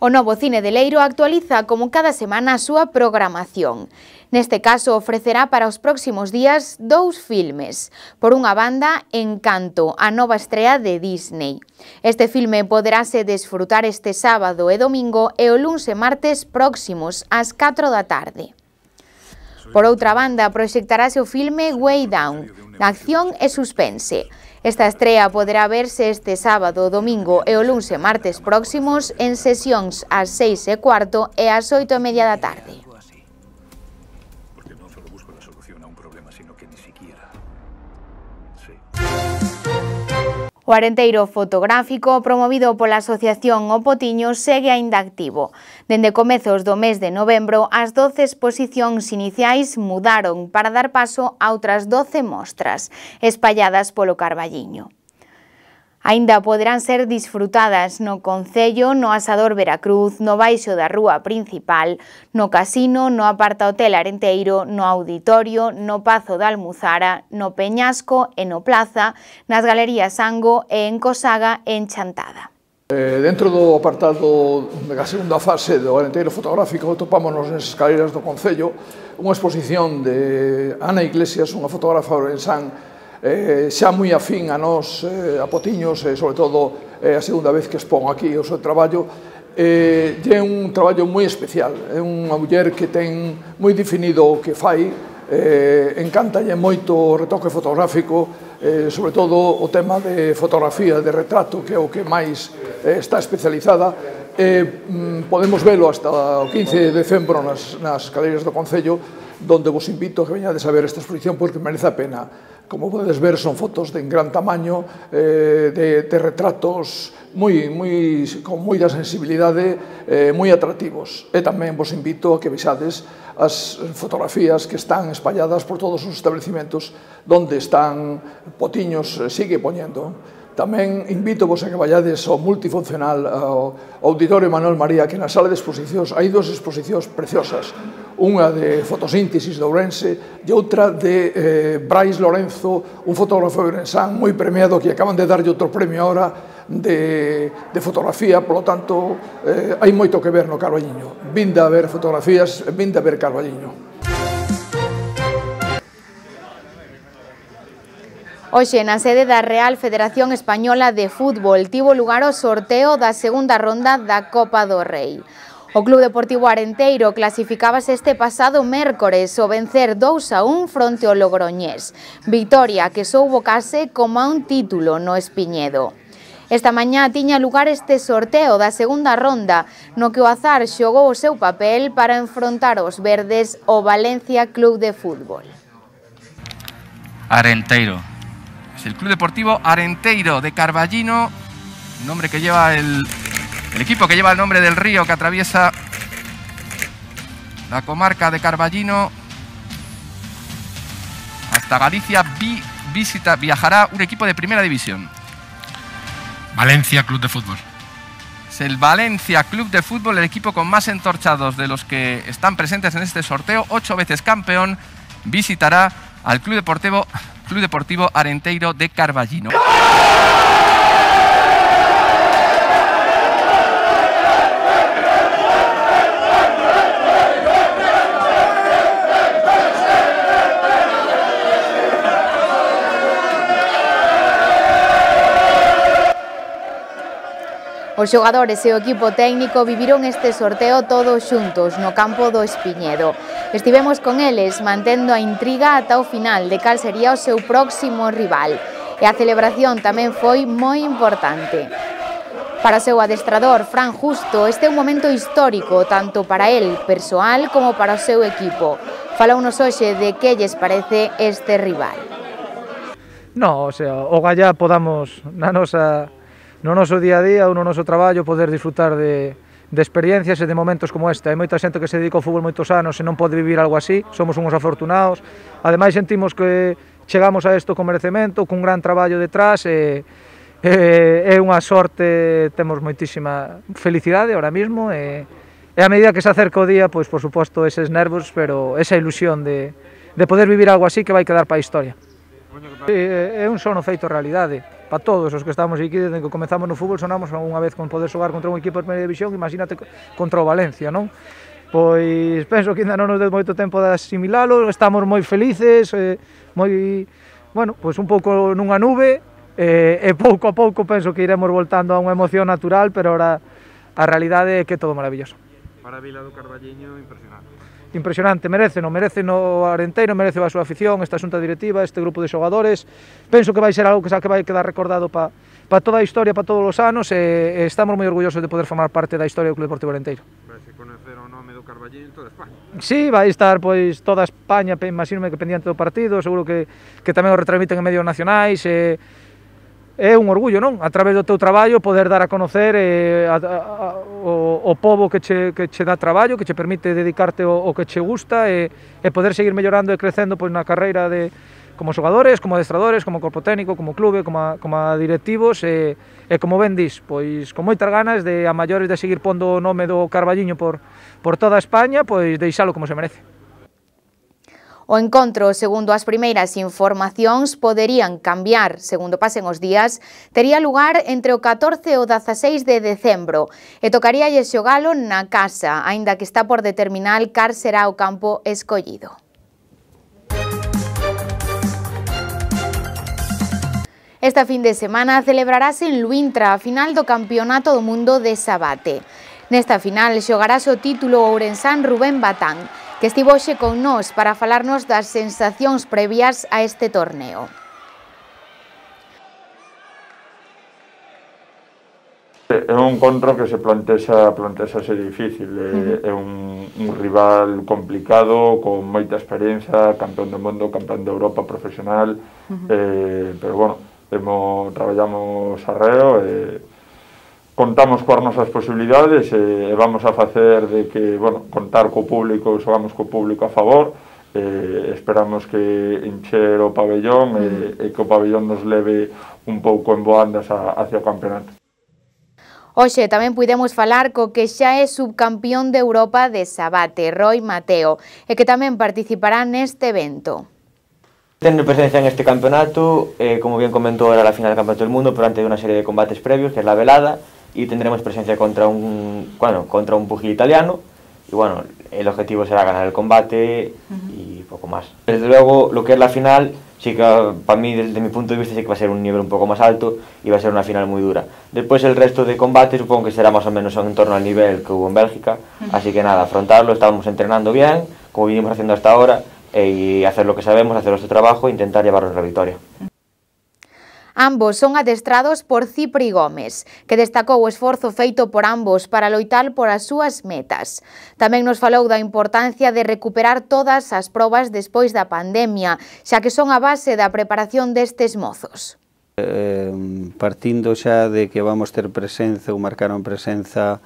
O Novo Cine de Leiro actualiza como cada semana a súa programación. Neste caso ofrecerá para os próximos días dous filmes. Por unha banda, Encanto, a nova estrea de Disney. Este filme poderase desfrutar este sábado e domingo e o luns e martes próximos ás catro da tarde. Por outra banda, proxectarase o filme Way Down, acción e suspense. Esta estrea poderá verse este sábado, domingo e o luns e martes próximos en sesións ás seis e cuarto e ás oito e media da tarde. O arenteiro fotográfico promovido pola Asociación O Potiño segue aínda activo. Dende comezos do mes de novembro, as doce exposicións iniciais mudaron para dar paso a outras doce mostras, espalladas polo Carballiño. Aínda poderán ser disfrutadas no Concello, no Asador Veracruz, no baixo da rúa principal, no Casino, no Apartahotel Arenteiro, no Auditorio, no Pazo da Almuzara, no Peñasco e no Plaza, nas Galerías Ango e en Cosaga e en Chantada. Eh, dentro do apartado da segunda fase do Arenteiro fotográfico topámonos nas escaleras do Concello unha exposición de Ana Iglesias, unha fotógrafa ourensán Eh, xa moi afín a nós, eh, a Potiños, e eh, sobre todo eh, a segunda vez que expón aquí o seu traballo, eh, é un traballo moi especial, é unha muller que ten moi definido o que fai, eh, encantalle moito o retoque fotográfico, eh, sobre todo o tema de fotografía, de retrato, que é o que máis eh, está especializada. Eh, podemos velo hasta o quince de decembro nas, nas galerías do Concello, donde vos invito a que veñades a ver esta exposición porque merece a pena. Como podedes ver, son fotos de gran tamaño, eh, de, de retratos moi, moi, con moita sensibilidade, eh, moi atractivos. E tamén vos invito a que vexades as fotografías que están espalladas por todos os establecimentos donde están Potiños, sigue poñendo. Tamén invito vos a que vayades ao multifuncional, ao Auditorio Manuel María, que na sala de exposicións hai dúas exposicións preciosas, unha de fotosíntesis de Ourense e outra de eh, Brais Lorenzo, un fotógrafo ourensán moi premiado que acaban de darlle outro premio ahora de, de fotografía, polo tanto eh, hai moito que ver no Carballiño. Vinde a ver fotografías, vinde a ver Carballiño. Hoxe, na sede da Real Federación Española de Fútbol, tivo lugar o sorteo da segunda ronda da Copa do Rei. O Club Deportivo Arenteiro clasificábase este pasado mércores ao vencer dous a un fronte ao Logroñés. Vitoria que soubo case como a un título no Espiñedo. Esta mañá tiña lugar este sorteo da segunda ronda, no que o azar xogou o seu papel para enfrontar os verdes o Valencia Club de Fútbol. Arenteiro. Es el Club Deportivo Arenteiro de Carballino, nombre que lleva el, el equipo que lleva el nombre del río que atraviesa la comarca de Carballino hasta Galicia. Vi, visita, viajará un equipo de primera división. Valencia Club de Fútbol. Es el Valencia Club de Fútbol, el equipo con más entorchados de los que están presentes en este sorteo, ocho veces campeón, visitará al Club Deportivo, Club Deportivo Arenteiro de Carballino. Os xogadores e o equipo técnico viviron este sorteo todos xuntos no campo do Espiñedo. Estivemos con eles mantendo a intriga ata o final de cal sería o seu próximo rival. E a celebración tamén foi moi importante. Para o seu adestrador, Fran Justo, este é un momento histórico tanto para el persoal como para o seu equipo. Falounos hoxe de que lles parece este rival. No, o sea, o gallá podamos na nosa no noso día a día ou no noso traballo poder disfrutar de, de experiencias e de momentos como esta. Hai moita xente que se dedica ao fútbol moitos anos e non pode vivir algo así, somos uns afortunados. Ademais sentimos que chegamos a isto con merecemento, cun gran traballo detrás e é unha sorte, temos moitísima felicidade ahora mismo e, e a medida que se acerca o día, pois por suposto eses nervos, pero esa ilusión de, de poder vivir algo así que vai quedar para a historia. É un sono feito realidade. Para todos os que estamos aquí, desde que comezamos no fútbol, sonamos unha vez con poder xogar contra un equipo de primeira división, imagínate contra o Valencia, non? Pois penso que ainda non nos deu moito tempo de asimilalo, estamos moi felices, eh, moi, bueno, pois un pouco nunha nube, eh, e pouco a pouco penso que iremos voltando a unha emoción natural, pero ahora a realidade é que é todo maravilloso. Para a Vila do Carballiño, impresionante. Impresionante, merece, non merece no Arenteiro, merece a súa afición, esta xunta directiva, este grupo de xogadores. Penso que vai ser algo que, que vai quedar recordado para pa toda a historia, para todos os anos, e, e estamos moi orgullosos de poder formar parte da historia do Club Deportivo Arenteiro. Vai se conocer o nome do Carballiño en toda España. Sí, vai estar pois toda España, imagínome que pendiente do partido, seguro que, que tamén o retransmiten en medios nacionais, e é un orgullo, non? A través do teu traballo poder dar a conocer eh, a, a, a, o, o pobo que che, que che dá traballo, que che permite dedicarte o, o que che gusta e, e poder seguir mellorando e crecendo pois, na carreira de, como xogadores, como adestradores, como corpo técnico, como clube, como a, como a directivos e, e como ben dis, pois con moitas ganas de a maiores de seguir pondo o nome do Carballiño por, por toda España, pois deixalo como se merece. O encontro, segundo as primeiras informacións, poderían cambiar, segundo pasen os días, tería lugar entre o catorce e o dezaseis de decembro e tocaríalle xogalo na casa, aínda que está por determinar cal será o campo escollido. Esta fin de semana celebrarase en Luintra a final do Campeonato do Mundo de Sabate. Nesta final xogarase o título ourensán Rubén Batán, que estivo hoxe con nós para falarnos das sensacións previas a este torneo. É un encontro que se plantexa, plantexa ser difícil, é, é un, un rival complicado, con moita experiencia, campeón do mundo, campeón de Europa profesional, uh-huh. eh, pero bueno, temo, traballamos arreo e contamos coas nosas posibilidades e vamos a facer de que, bueno, contar co público, xogamos co público a favor, e esperamos que encher o pabellón e, e que o pabellón nos leve un pouco en boandas a, hacia o campeonato. Hoxe tamén puidemos falar co que xa é subcampión de Europa de Sabate, Roy Mateo, e que tamén participará neste evento. Tendo presencia en este campeonato, eh, como bien comentó, era la final del Campeonato del Mundo, pero antes de una serie de combates previos, que es la velada, y tendremos presencia contra un, bueno, contra un pugil italiano, y bueno, el objetivo será ganar el combate y poco más. Desde luego, lo que es la final sí que para mí, desde mi punto de vista, sí que va a ser un nivel un poco más alto y va a ser una final muy dura. Después el resto de combates supongo que será más o menos en torno al nivel que hubo en Bélgica, así que nada, afrontarlo, estábamos entrenando bien, como vinimos haciendo hasta ahora, y hacer lo que sabemos, hacer nuestro trabajo e intentar llevarnos la victoria. Ambos son adestrados por Cipri Gómez, que destacou o esforzo feito por ambos para loitar por as súas metas. Tamén nos falou da importancia de recuperar todas as probas despois da pandemia, xa que son a base da preparación destes mozos. Eh, partindo xa de que vamos ter presenza ou marcaron presenza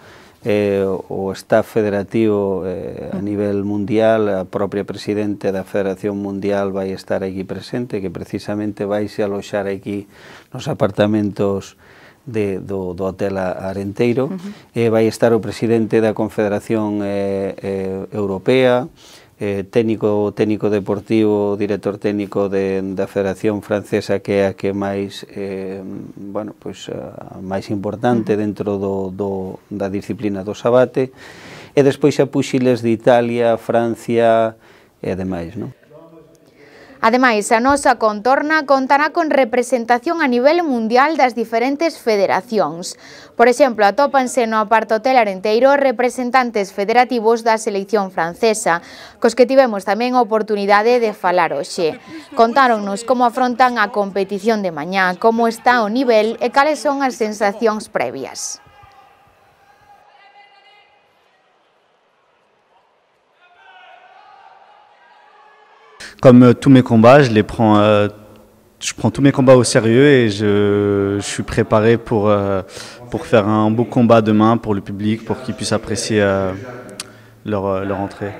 eh, o staff federativo eh, a nivel mundial, a propia presidente da Federación Mundial vai estar aquí presente, que precisamente vai se aloxar aquí nos apartamentos de, do, do Hotel Arenteiro, uh-huh. eh, vai estar o presidente da Confederación eh, eh, Europea, eh, técnico, técnico deportivo, director técnico de, da Federación Francesa, que é a que máis eh, bueno, pues, a máis importante dentro do, do, da disciplina do sabate, e despois xa puxiles de Italia, Francia e demais, non? Ademais, a nosa contorna contará con representación a nivel mundial das diferentes federacións. Por exemplo, atópanse no Aparto Hotel Arenteiro representantes federativos da selección francesa, cos que tivemos tamén a oportunidade de falar hoxe. Contáronnos como afrontan a competición de mañá, como está o nivel e cales son as sensacións previas. Comme euh, tous mes combats, je les prends, euh, je prends tous mes combats au sérieux et je, je suis préparé pour, euh, pour faire un beau combat demain pour le public, pour qu'ils puissent apprécier euh, leur, leur entrée.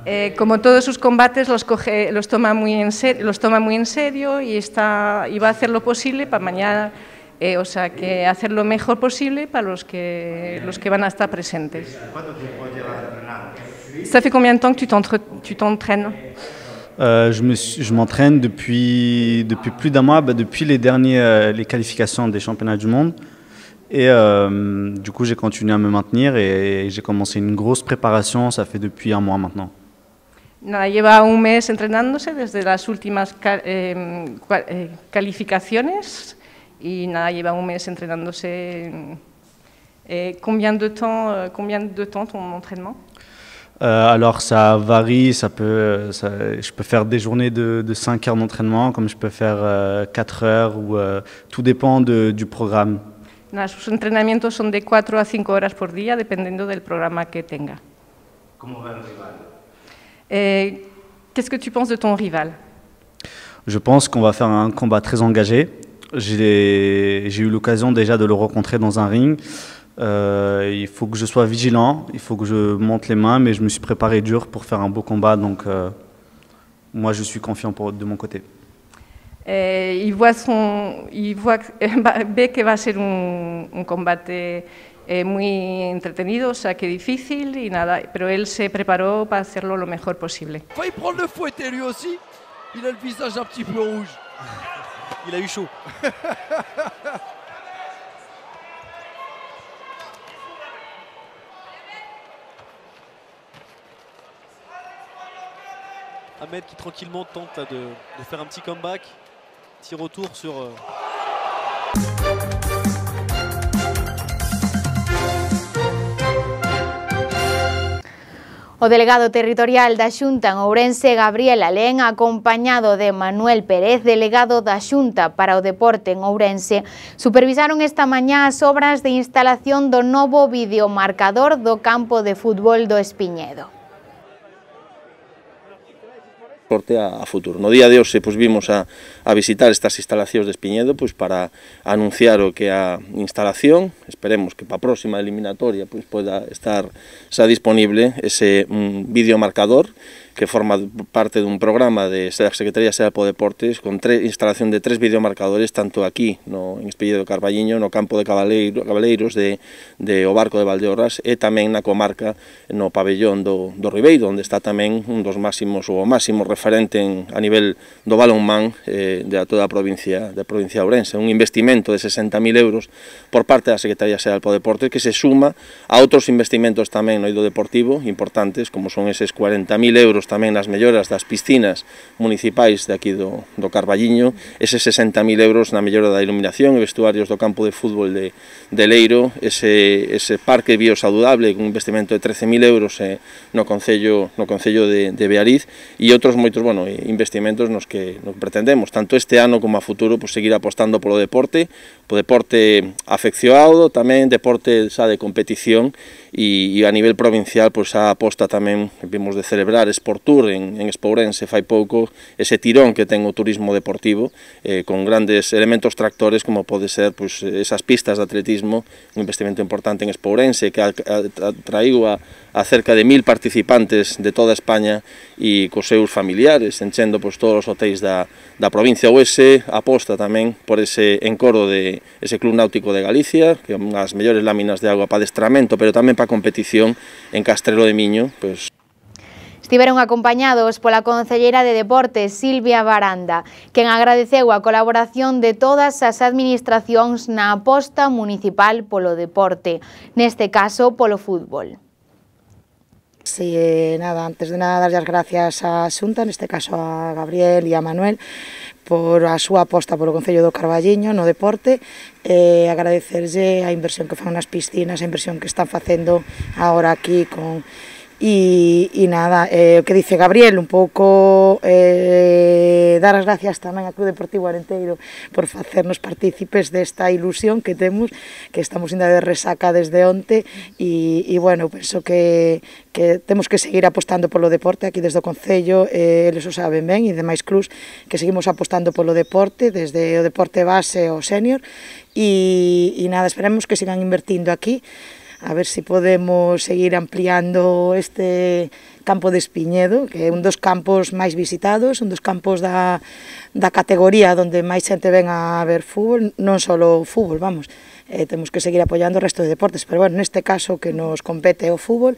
Eh, como todos sus combates los, coge, los, toma muy en serio, los toma muy en serio y, está, y va a hacer lo posible para mañana, eh, o sea, que hacer lo mejor posible para los que, los que van a estar presentes. Ça fait combien de temps que tu t'entraînes? euh, Je m'entraîne depuis, depuis plus d'un mois, bah, depuis les dernières les qualifications des championnats du monde. Et euh, du coup, j'ai continué à me maintenir et j'ai commencé une grosse préparation, ça fait depuis un mois maintenant. Nada, lleva un mes entrenándose desde las últimas eh, calificaciones y nada, lleva un mes entrenándose. Eh, combien de temps, combien de temps ton entraînement? Euh, alors ça varie, ça peut, ça, je peux faire des journées de, de cinq heures d'entraînement, comme je peux faire euh, quatre heures, ou, euh, tout dépend de, du programme. Nada, sus entrenamientos son de cuatro a cinco horas por día, dependiendo del programa que tenga. ¿Cómo va el rival? Eh, Qu'est-ce que tu penses de ton rival? Je pense qu'on va faire un combat très engagé. J'ai eu l'occasion déjà de le rencontrer dans un ring. Euh, il faut que je sois vigilant, il faut que je monte les mains, mais je me suis préparé dur pour faire un beau combat, donc euh, moi je suis confiant pour, de mon côté. Eh, il voit son, il voit, ve que va a ser un, un combate eh, muy entretenido, o sea que difícil y nada, pero él se preparó para hacerlo lo mejor posible. Il prendre le fouetté lui aussi, il a le visage un petit peu rouge. Il a eu chaud. Ahmed qui tranquillement tente là, de, de faire un petit comeback, petit retour sur... Euh... O delegado territorial da Xunta en Ourense, Gabriel Alén, acompañado de Manuel Pérez, delegado da Xunta para o Deporte en Ourense, supervisaron esta mañá as obras de instalación do novo videomarcador do campo de fútbol do Espiñedo. A, a futuro. No día de hoxe pues, vimos a, a visitar estas instalacións de Espiñedo pues, para anunciar o que a instalación, esperemos que para a próxima eliminatoria pues, poda estar xa disponible ese un videomarcador que forma parte dun programa de la Secretaría Xeral de Deportes con tres, instalación de tres videomarcadores tanto aquí no, en Espiñedo de Carballiño, no campo de Cabaleiro, Cabaleiros de, de o Barco de Valdeorras e tamén na comarca no pabellón do, do Ribeiro, onde está tamén un dos máximos ou o máximo referente en, a nivel do balonmán eh, de toda a provincia, da provincia de Ourense, un investimento de sesenta mil euros por parte da Secretaría Xeral de Deportes que se suma a outros investimentos tamén no eido deportivo importantes como son eses cuarenta mil euros euros tamén nas melloras das piscinas municipais de aquí do, do Carballiño, ese sesenta mil euros na mellora da iluminación e vestuarios do campo de fútbol de, de Leiro, ese, ese parque biosaludable con un investimento de trece mil euros eh, no Concello, no Concello de, de Beariz e outros moitos bueno, investimentos nos que, nos que pretendemos, tanto este ano como a futuro, pues, seguir apostando polo deporte, po deporte afeccionado, tamén deporte xa de competición e, e a nivel provincial, pues, a aposta tamén, vimos de celebrar Sportur en, en Espourense fai pouco, ese tirón que ten o turismo deportivo, eh, con grandes elementos tractores como pode ser pues, esas pistas de atletismo, un investimento importante en Espourense que atraiu a, a cerca de mil participantes de toda España e cos seus familiares, enchendo pues, todos os hotéis da, da provincia. O ese aposta tamén por ese encoro de ese Club Náutico de Galicia, que é unha das mellores láminas de agua para adestramento, pero tamén para competición en Castrelo de Miño. Pues... Estiveron acompañados pola concelleira de Deportes, Silvia Baranda, quen agradeceu a colaboración de todas as administracións na aposta municipal polo deporte, neste caso polo fútbol. Sí, eh, nada, antes de nada, darlle as gracias á Xunta, neste caso a Gabriel e a Manuel, por a súa aposta polo Concello do Carballiño no deporte, e agradecerlle a inversión que fan nas piscinas, a inversión que están facendo agora aquí con... E, e nada, eh, o que dice Gabriel, un pouco eh, dar as gracias tamén ao Club Deportivo Arenteiro por facernos partícipes desta ilusión que temos, que estamos ainda de resaca desde onte, e, e bueno, penso que, que temos que seguir apostando polo deporte aquí desde o Concello, eh, eles o saben ben, e demais clubs que seguimos apostando polo deporte, desde o deporte base ao sénior, e, e nada, esperemos que sigan invertindo aquí, a ver se si podemos seguir ampliando este campo de Espiñedo, que é un dos campos máis visitados, un dos campos da, da categoría onde máis xente ven a ver fútbol, non só o fútbol, vamos, eh, temos que seguir apoiando o resto de deportes, pero bueno, neste caso que nos compete o fútbol,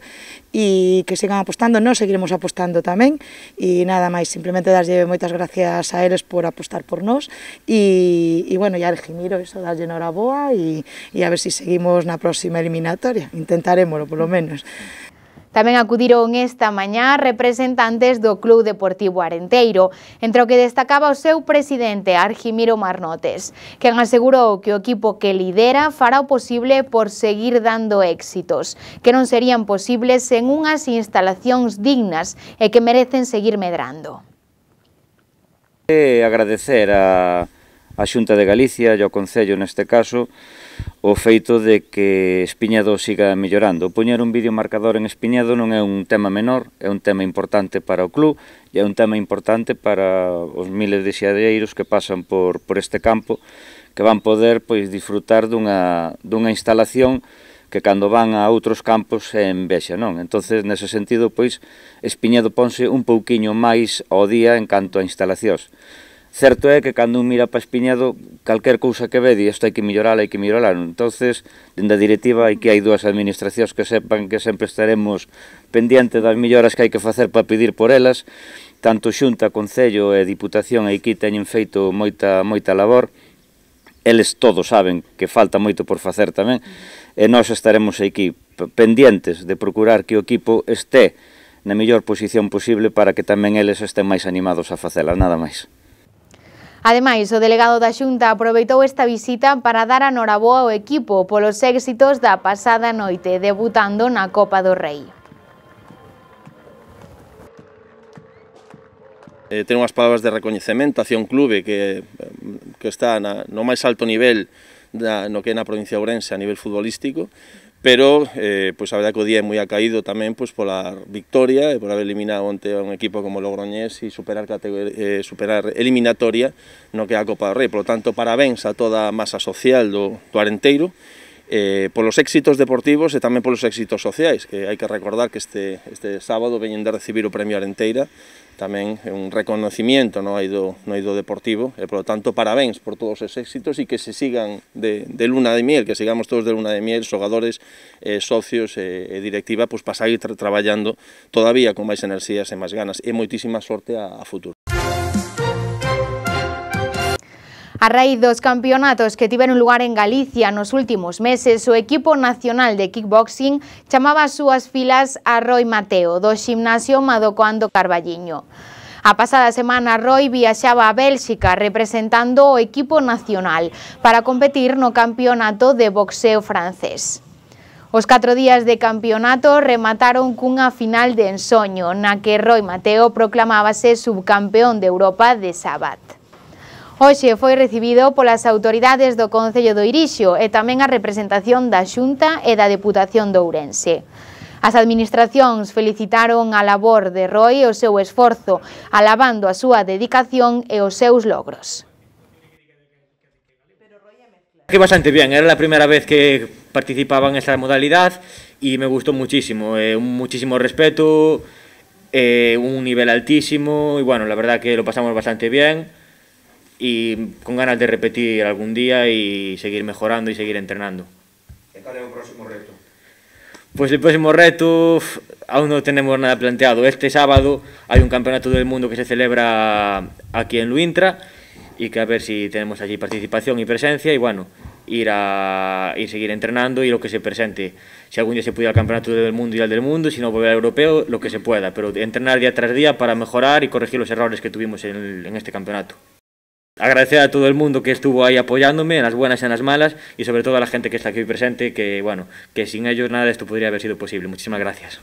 e que sigan apostando, nós seguiremos apostando tamén, e nada máis, simplemente darlle moitas gracias a eles por apostar por nós, e, e bueno, e a Argimiro, eso, darlle noraboa, e, e a ver se si seguimos na próxima eliminatoria, intentaremoslo, polo menos. Tamén acudiron esta mañá representantes do Club Deportivo Arenteiro, entre o que destacaba o seu presidente, Argimiro Marnotes, quen asegurou que o equipo que lidera fará o posible por seguir dando éxitos, que non serían posibles sen unhas instalacións dignas e que merecen seguir medrando. E agradecer a, a Xunta de Galicia e ao Concello neste caso o feito de que Espiñedo siga mellorando. Poñer un vídeo marcador en Espiñedo non é un tema menor, é un tema importante para o club e é un tema importante para os miles de xadreiros que pasan por, por este campo, que van poder pois, disfrutar dunha, dunha instalación que cando van a outros campos é envexa, non? Entonces, nese sentido, pois, Espiñedo ponse un pouquiño máis ao día en canto a instalacións. Certo é que cando un mira para Espiñedo, calquer cousa que ve, di, isto hai que mellorala, hai que mellorala. Entonces, dende a directiva, hai que hai dúas administracións que sepan que sempre estaremos pendientes das melloras que hai que facer para pedir por elas. Tanto Xunta, Concello e Diputación aquí teñen feito moita, moita labor. Eles todos saben que falta moito por facer tamén. E nós estaremos aquí pendientes de procurar que o equipo este na mellor posición posible para que tamén eles estén máis animados a facela, nada máis. Ademais, o delegado da Xunta aproveitou esta visita para dar a noraboa ao equipo polos éxitos da pasada noite, debutando na Copa do Rei. Eh, ten unhas palabras de recoñecemento hacia un clube que, que está na, no máis alto nivel da, no que é na provincia de Ourense a nivel futbolístico, pero eh, pois a verdade que o día é moi acaído tamén pois, pola victoria e por haber eliminado onte a un equipo como Logroñés e superar, eh, superar eliminatoria no que é a Copa do Rei. Por lo tanto, parabéns a toda a masa social do, do Arenteiro, eh, polos éxitos deportivos e tamén polos éxitos sociais, que hai que recordar que este, este sábado veñen de recibir o Premio Arenteira, tamén é un reconocimiento no eido, no eido deportivo, e, por lo tanto, parabéns por todos os éxitos e que se sigan de, de luna de miel, que sigamos todos de luna de miel, xogadores, eh, socios e, e directiva, pues, para seguir tra traballando todavía con máis enerxías e máis ganas, e moitísima sorte a, a futuro. A A raíz dos campeonatos que tiveron lugar en Galicia nos últimos meses, o equipo nacional de kickboxing chamaba as súas filas a Roi Mateo, do Ximnasio Madocoando Carballiño. A pasada semana, Roi viaxaba a Bélxica representando o equipo nacional para competir no campeonato de boxeo francés. Os catro días de campeonato remataron cunha final de ensoño, na que Roi Mateo proclamábase subcampeón de Europa de Sabat. Hoxe foi recibido polas autoridades do Concello do Irixo e tamén a representación da Xunta e da Deputación de Ourense. As administracións felicitaron a labor de Roi e o seu esforzo, alabando a súa dedicación e os seus logros. Que bastante bien, era la primera vez que participaba en esta modalidad y me gustó muchísimo, eh, un muchísimo respeto, eh, un nivel altísimo y bueno, la verdad que lo pasamos bastante bien y con ganas de repetir algún día y seguir mejorando y seguir entrenando. ¿Y cuál es el próximo reto? Pues el próximo reto aún no tenemos nada planteado. Este sábado hay un campeonato del mundo que se celebra aquí en Luintra y que a ver si tenemos allí participación y presencia y bueno, ir a ir seguir entrenando y lo que se presente. Si algún día se pudiera al campeonato del mundo y al del mundo, si no volver al europeo, lo que se pueda, pero entrenar día tras día para mejorar y corregir los errores que tuvimos en, el, en este campeonato. Agradecer a todo el mundo que estuvo ahí apoyándome en las buenas y en las malas y sobre todo a la gente que está aquí presente, que bueno, que sin ellos nada de esto podría haber sido posible. Muchísimas gracias.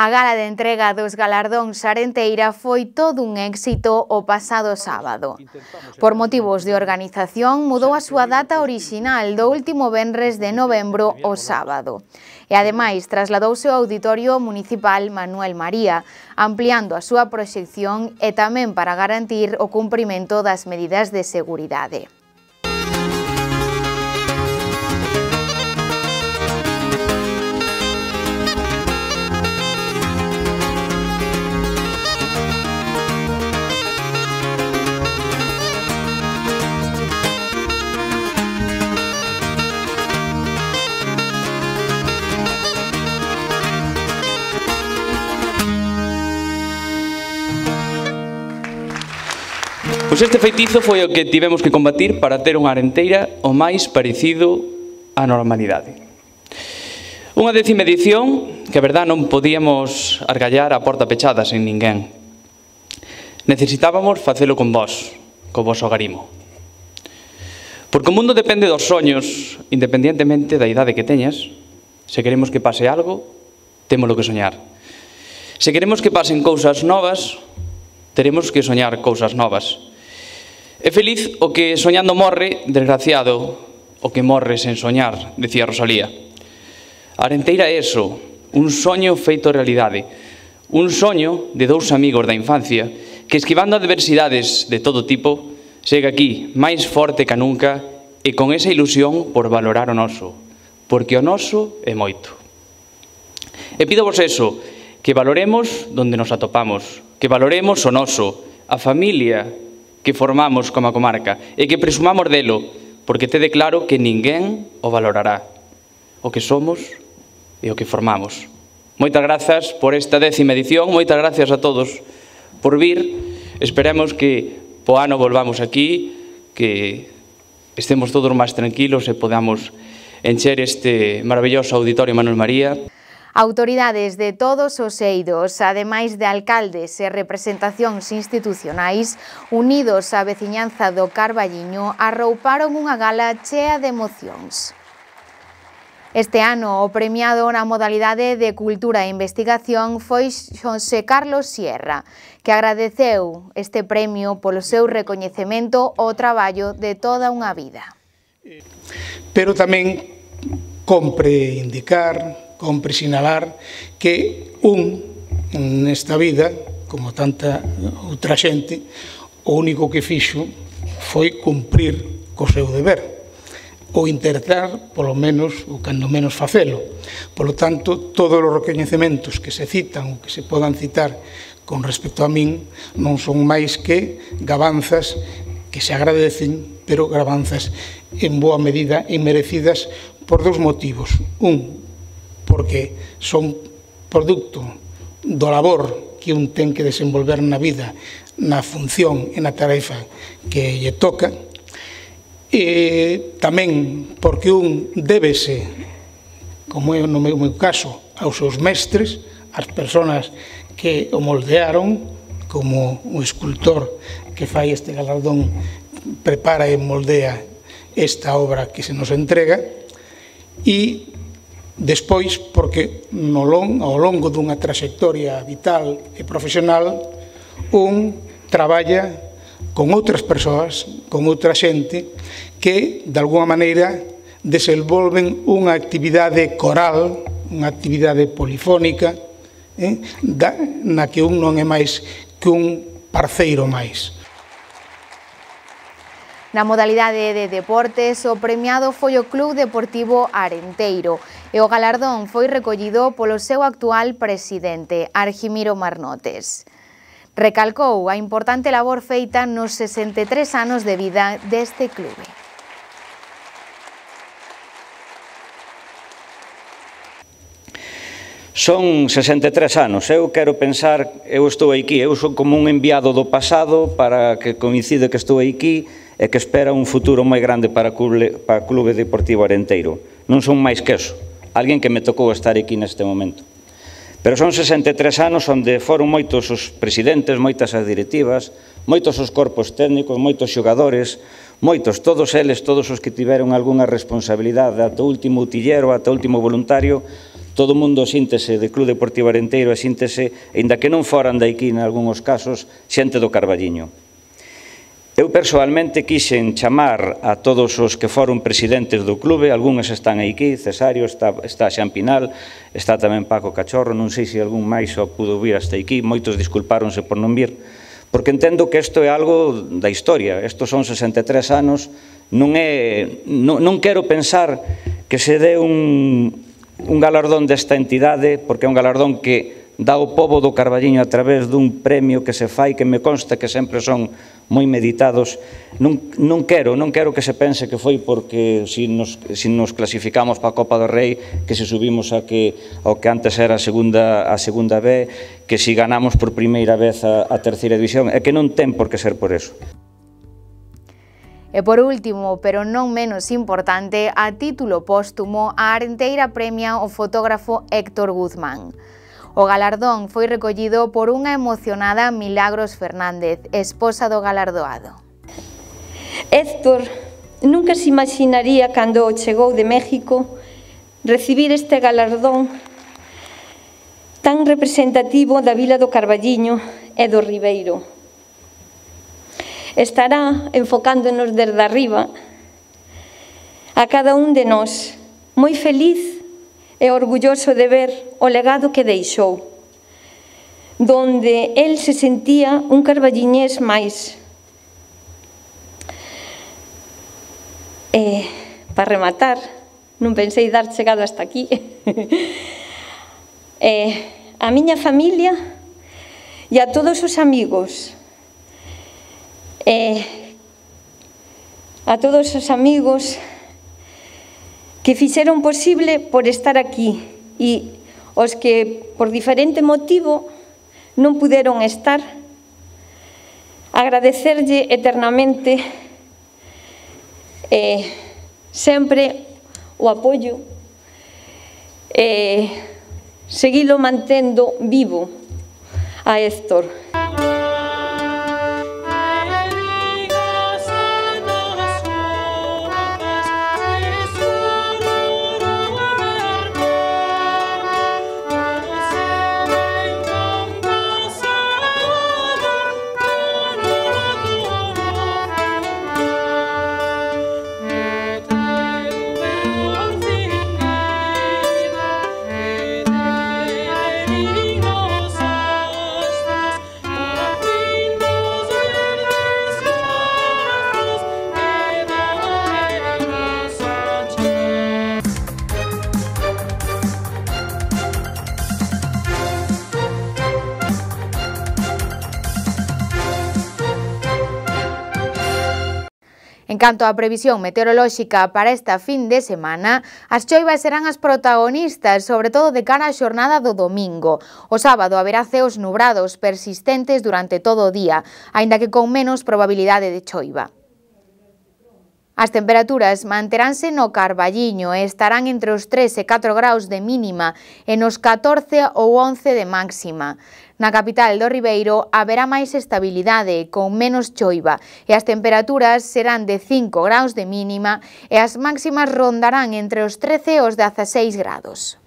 A gala de entrega dos galardóns Arenteira foi todo un éxito o pasado sábado. Por motivos de organización, mudou a súa data orixinal do último venres de novembro ao sábado. E ademais trasladouse ao Auditorio Municipal Manuel María, ampliando a súa proxección e tamén para garantir o cumprimento das medidas de seguridade. Pois este feitizo foi o que tivemos que combatir para ter unha Arenteira o máis parecido á normalidade. Unha décima edición que, a verdad, non podíamos argallar a porta pechada sen ninguén. Necesitábamos facelo con vós, co voso agarimo. Porque o mundo depende dos soños, independientemente da idade que teñas. Se queremos que pase algo, témolo que soñar. Se queremos que pasen cousas novas, teremos que soñar cousas novas. É feliz o que soñando morre, desgraciado o que morre sen soñar, decía Rosalía. A Arenteira é eso, un soño feito realidade, un soño de dous amigos da infancia que, esquivando adversidades de todo tipo, chega aquí máis forte que nunca e con esa ilusión por valorar o noso, porque o noso é moito. E pídovos eso, que valoremos donde nos atopamos, que valoremos o noso, a familia que formamos como a comarca e que presumamos delo, porque tede claro que ninguén o valorará, o que somos e o que formamos. Moitas grazas por esta décima edición, moitas gracias a todos por vir, esperemos que po ano volvamos aquí, que estemos todos máis tranquilos e podamos encher este maravilloso Auditorio Manuel María. Autoridades de todos os eidos, ademais de alcaldes e representacións institucionais, unidos á veciñanza do Carballiño, arrouparon unha gala chea de emocións. Este ano, o premiado na modalidade de Cultura e Investigación foi Xosé Carlos Sierra, que agradeceu este premio polo seu recoñecemento ao traballo de toda unha vida. Pero tamén compre indicar, compre sinalar que un nesta vida, como tanta outra xente, o único que fixo foi cumprir co seu deber, ou intentar, polo menos, ou cando menos facelo. Polo tanto, todos os recoñecementos que se citan ou que se podan citar con respecto a min non son máis que gabanzas que se agradecen, pero gabanzas en boa medida e merecidas por dous motivos. Un, porque son producto do labor que un ten que desenvolver na vida, na función e na tarefa que lle toca, e tamén porque un débese, como é no meu caso, aos seus mestres, ás persoas que o moldearon, como o escultor que fai este galardón prepara e moldea esta obra que se nos entrega, e despois porque no long, ao longo dunha trayectoria vital e profesional un traballa con outras persoas, con outra xente que, de alguna maneira, desenvolven unha actividade coral, unha actividade polifónica, eh, da, na que un non é máis que un parceiro máis. Na modalidade de deportes, o premiado foi o Club Deportivo Arenteiro e o galardón foi recollido polo seu actual presidente, Argimiro Marnotes. Recalcou a importante labor feita nos sesenta e tres anos de vida deste clube. Son sesenta e tres anos, eu quero pensar, eu estou aquí, eu son como un enviado do pasado para que coincide que estou aquí e que espera un futuro moi grande para o Clube Deportivo Arenteiro. Non son máis que eso, alguén que me tocou estar aquí neste momento. Pero son sesenta e tres anos onde foron moitos os presidentes, moitas as directivas, moitos os corpos técnicos, moitos xogadores, moitos, todos eles, todos os que tiveron algunha responsabilidade, ata o último utillero, ata o último voluntario, todo o mundo síntese de Club Deportivo Arenteiro e síntese, aínda que non foran daqui en algúns casos, xente do Carballiño. Eu persoalmente quixen chamar a todos os que foron presidentes do clube, algúns están aquí, Cesario, está, está Xan Pinal, está tamén Paco Cachorro, non sei se algún máis só pudo vir hasta aquí, moitos disculpáronse por non vir, porque entendo que isto é algo da historia, estos son sesenta e tres anos, non é, non, non quero pensar que se dé un, un galardón desta entidade, porque é un galardón que dá o pobo do Carballiño a través dun premio que se fai, que me consta que sempre son moi meditados. Non, non quero, non quero que se pense que foi porque si nos, si nos clasificamos para a Copa do Rei, que se subimos a que, ao que antes era a segunda, a segunda B, que si ganamos por primeira vez a, a terceira división, é que non ten por que ser por eso. E por último, pero non menos importante, a título póstumo, a Arenteira premia o fotógrafo Héctor Guzmán. O galardón foi recollido por unha emocionada Milagros Fernández, esposa do galardoado. Héctor nunca se imaginaría cando chegou de México recibir este galardón tan representativo da vila do Carballiño e do Ribeiro. Estará enfocándonos desde arriba a cada un de nós, moi feliz e orgulloso de ver o legado que deixou, donde el se sentía un carballiñés máis. E, para rematar, non pensei dar chegado hasta aquí, e, a miña familia e a todos os amigos, e a todos os amigos que fixeron posible por estar aquí e os que por diferente motivo non puderon estar, agradecerlle eternamente eh, sempre o apoio e eh, seguilo mantendo vivo a Héctor. En canto á previsión meteorolóxica para esta fin de semana, as choivas serán as protagonistas, sobre todo de cara á xornada do domingo. O sábado haberá ceos nubrados persistentes durante todo o día, aínda que con menos probabilidade de choiva. As temperaturas manteránse no Carballiño e estarán entre os tres e catro graus de mínima e nos catorce ou once de máxima. Na capital do Ribeiro haberá máis estabilidade, con menos choiva, e as temperaturas serán de cinco graus de mínima e as máximas rondarán entre os trece e os dezaseis grados.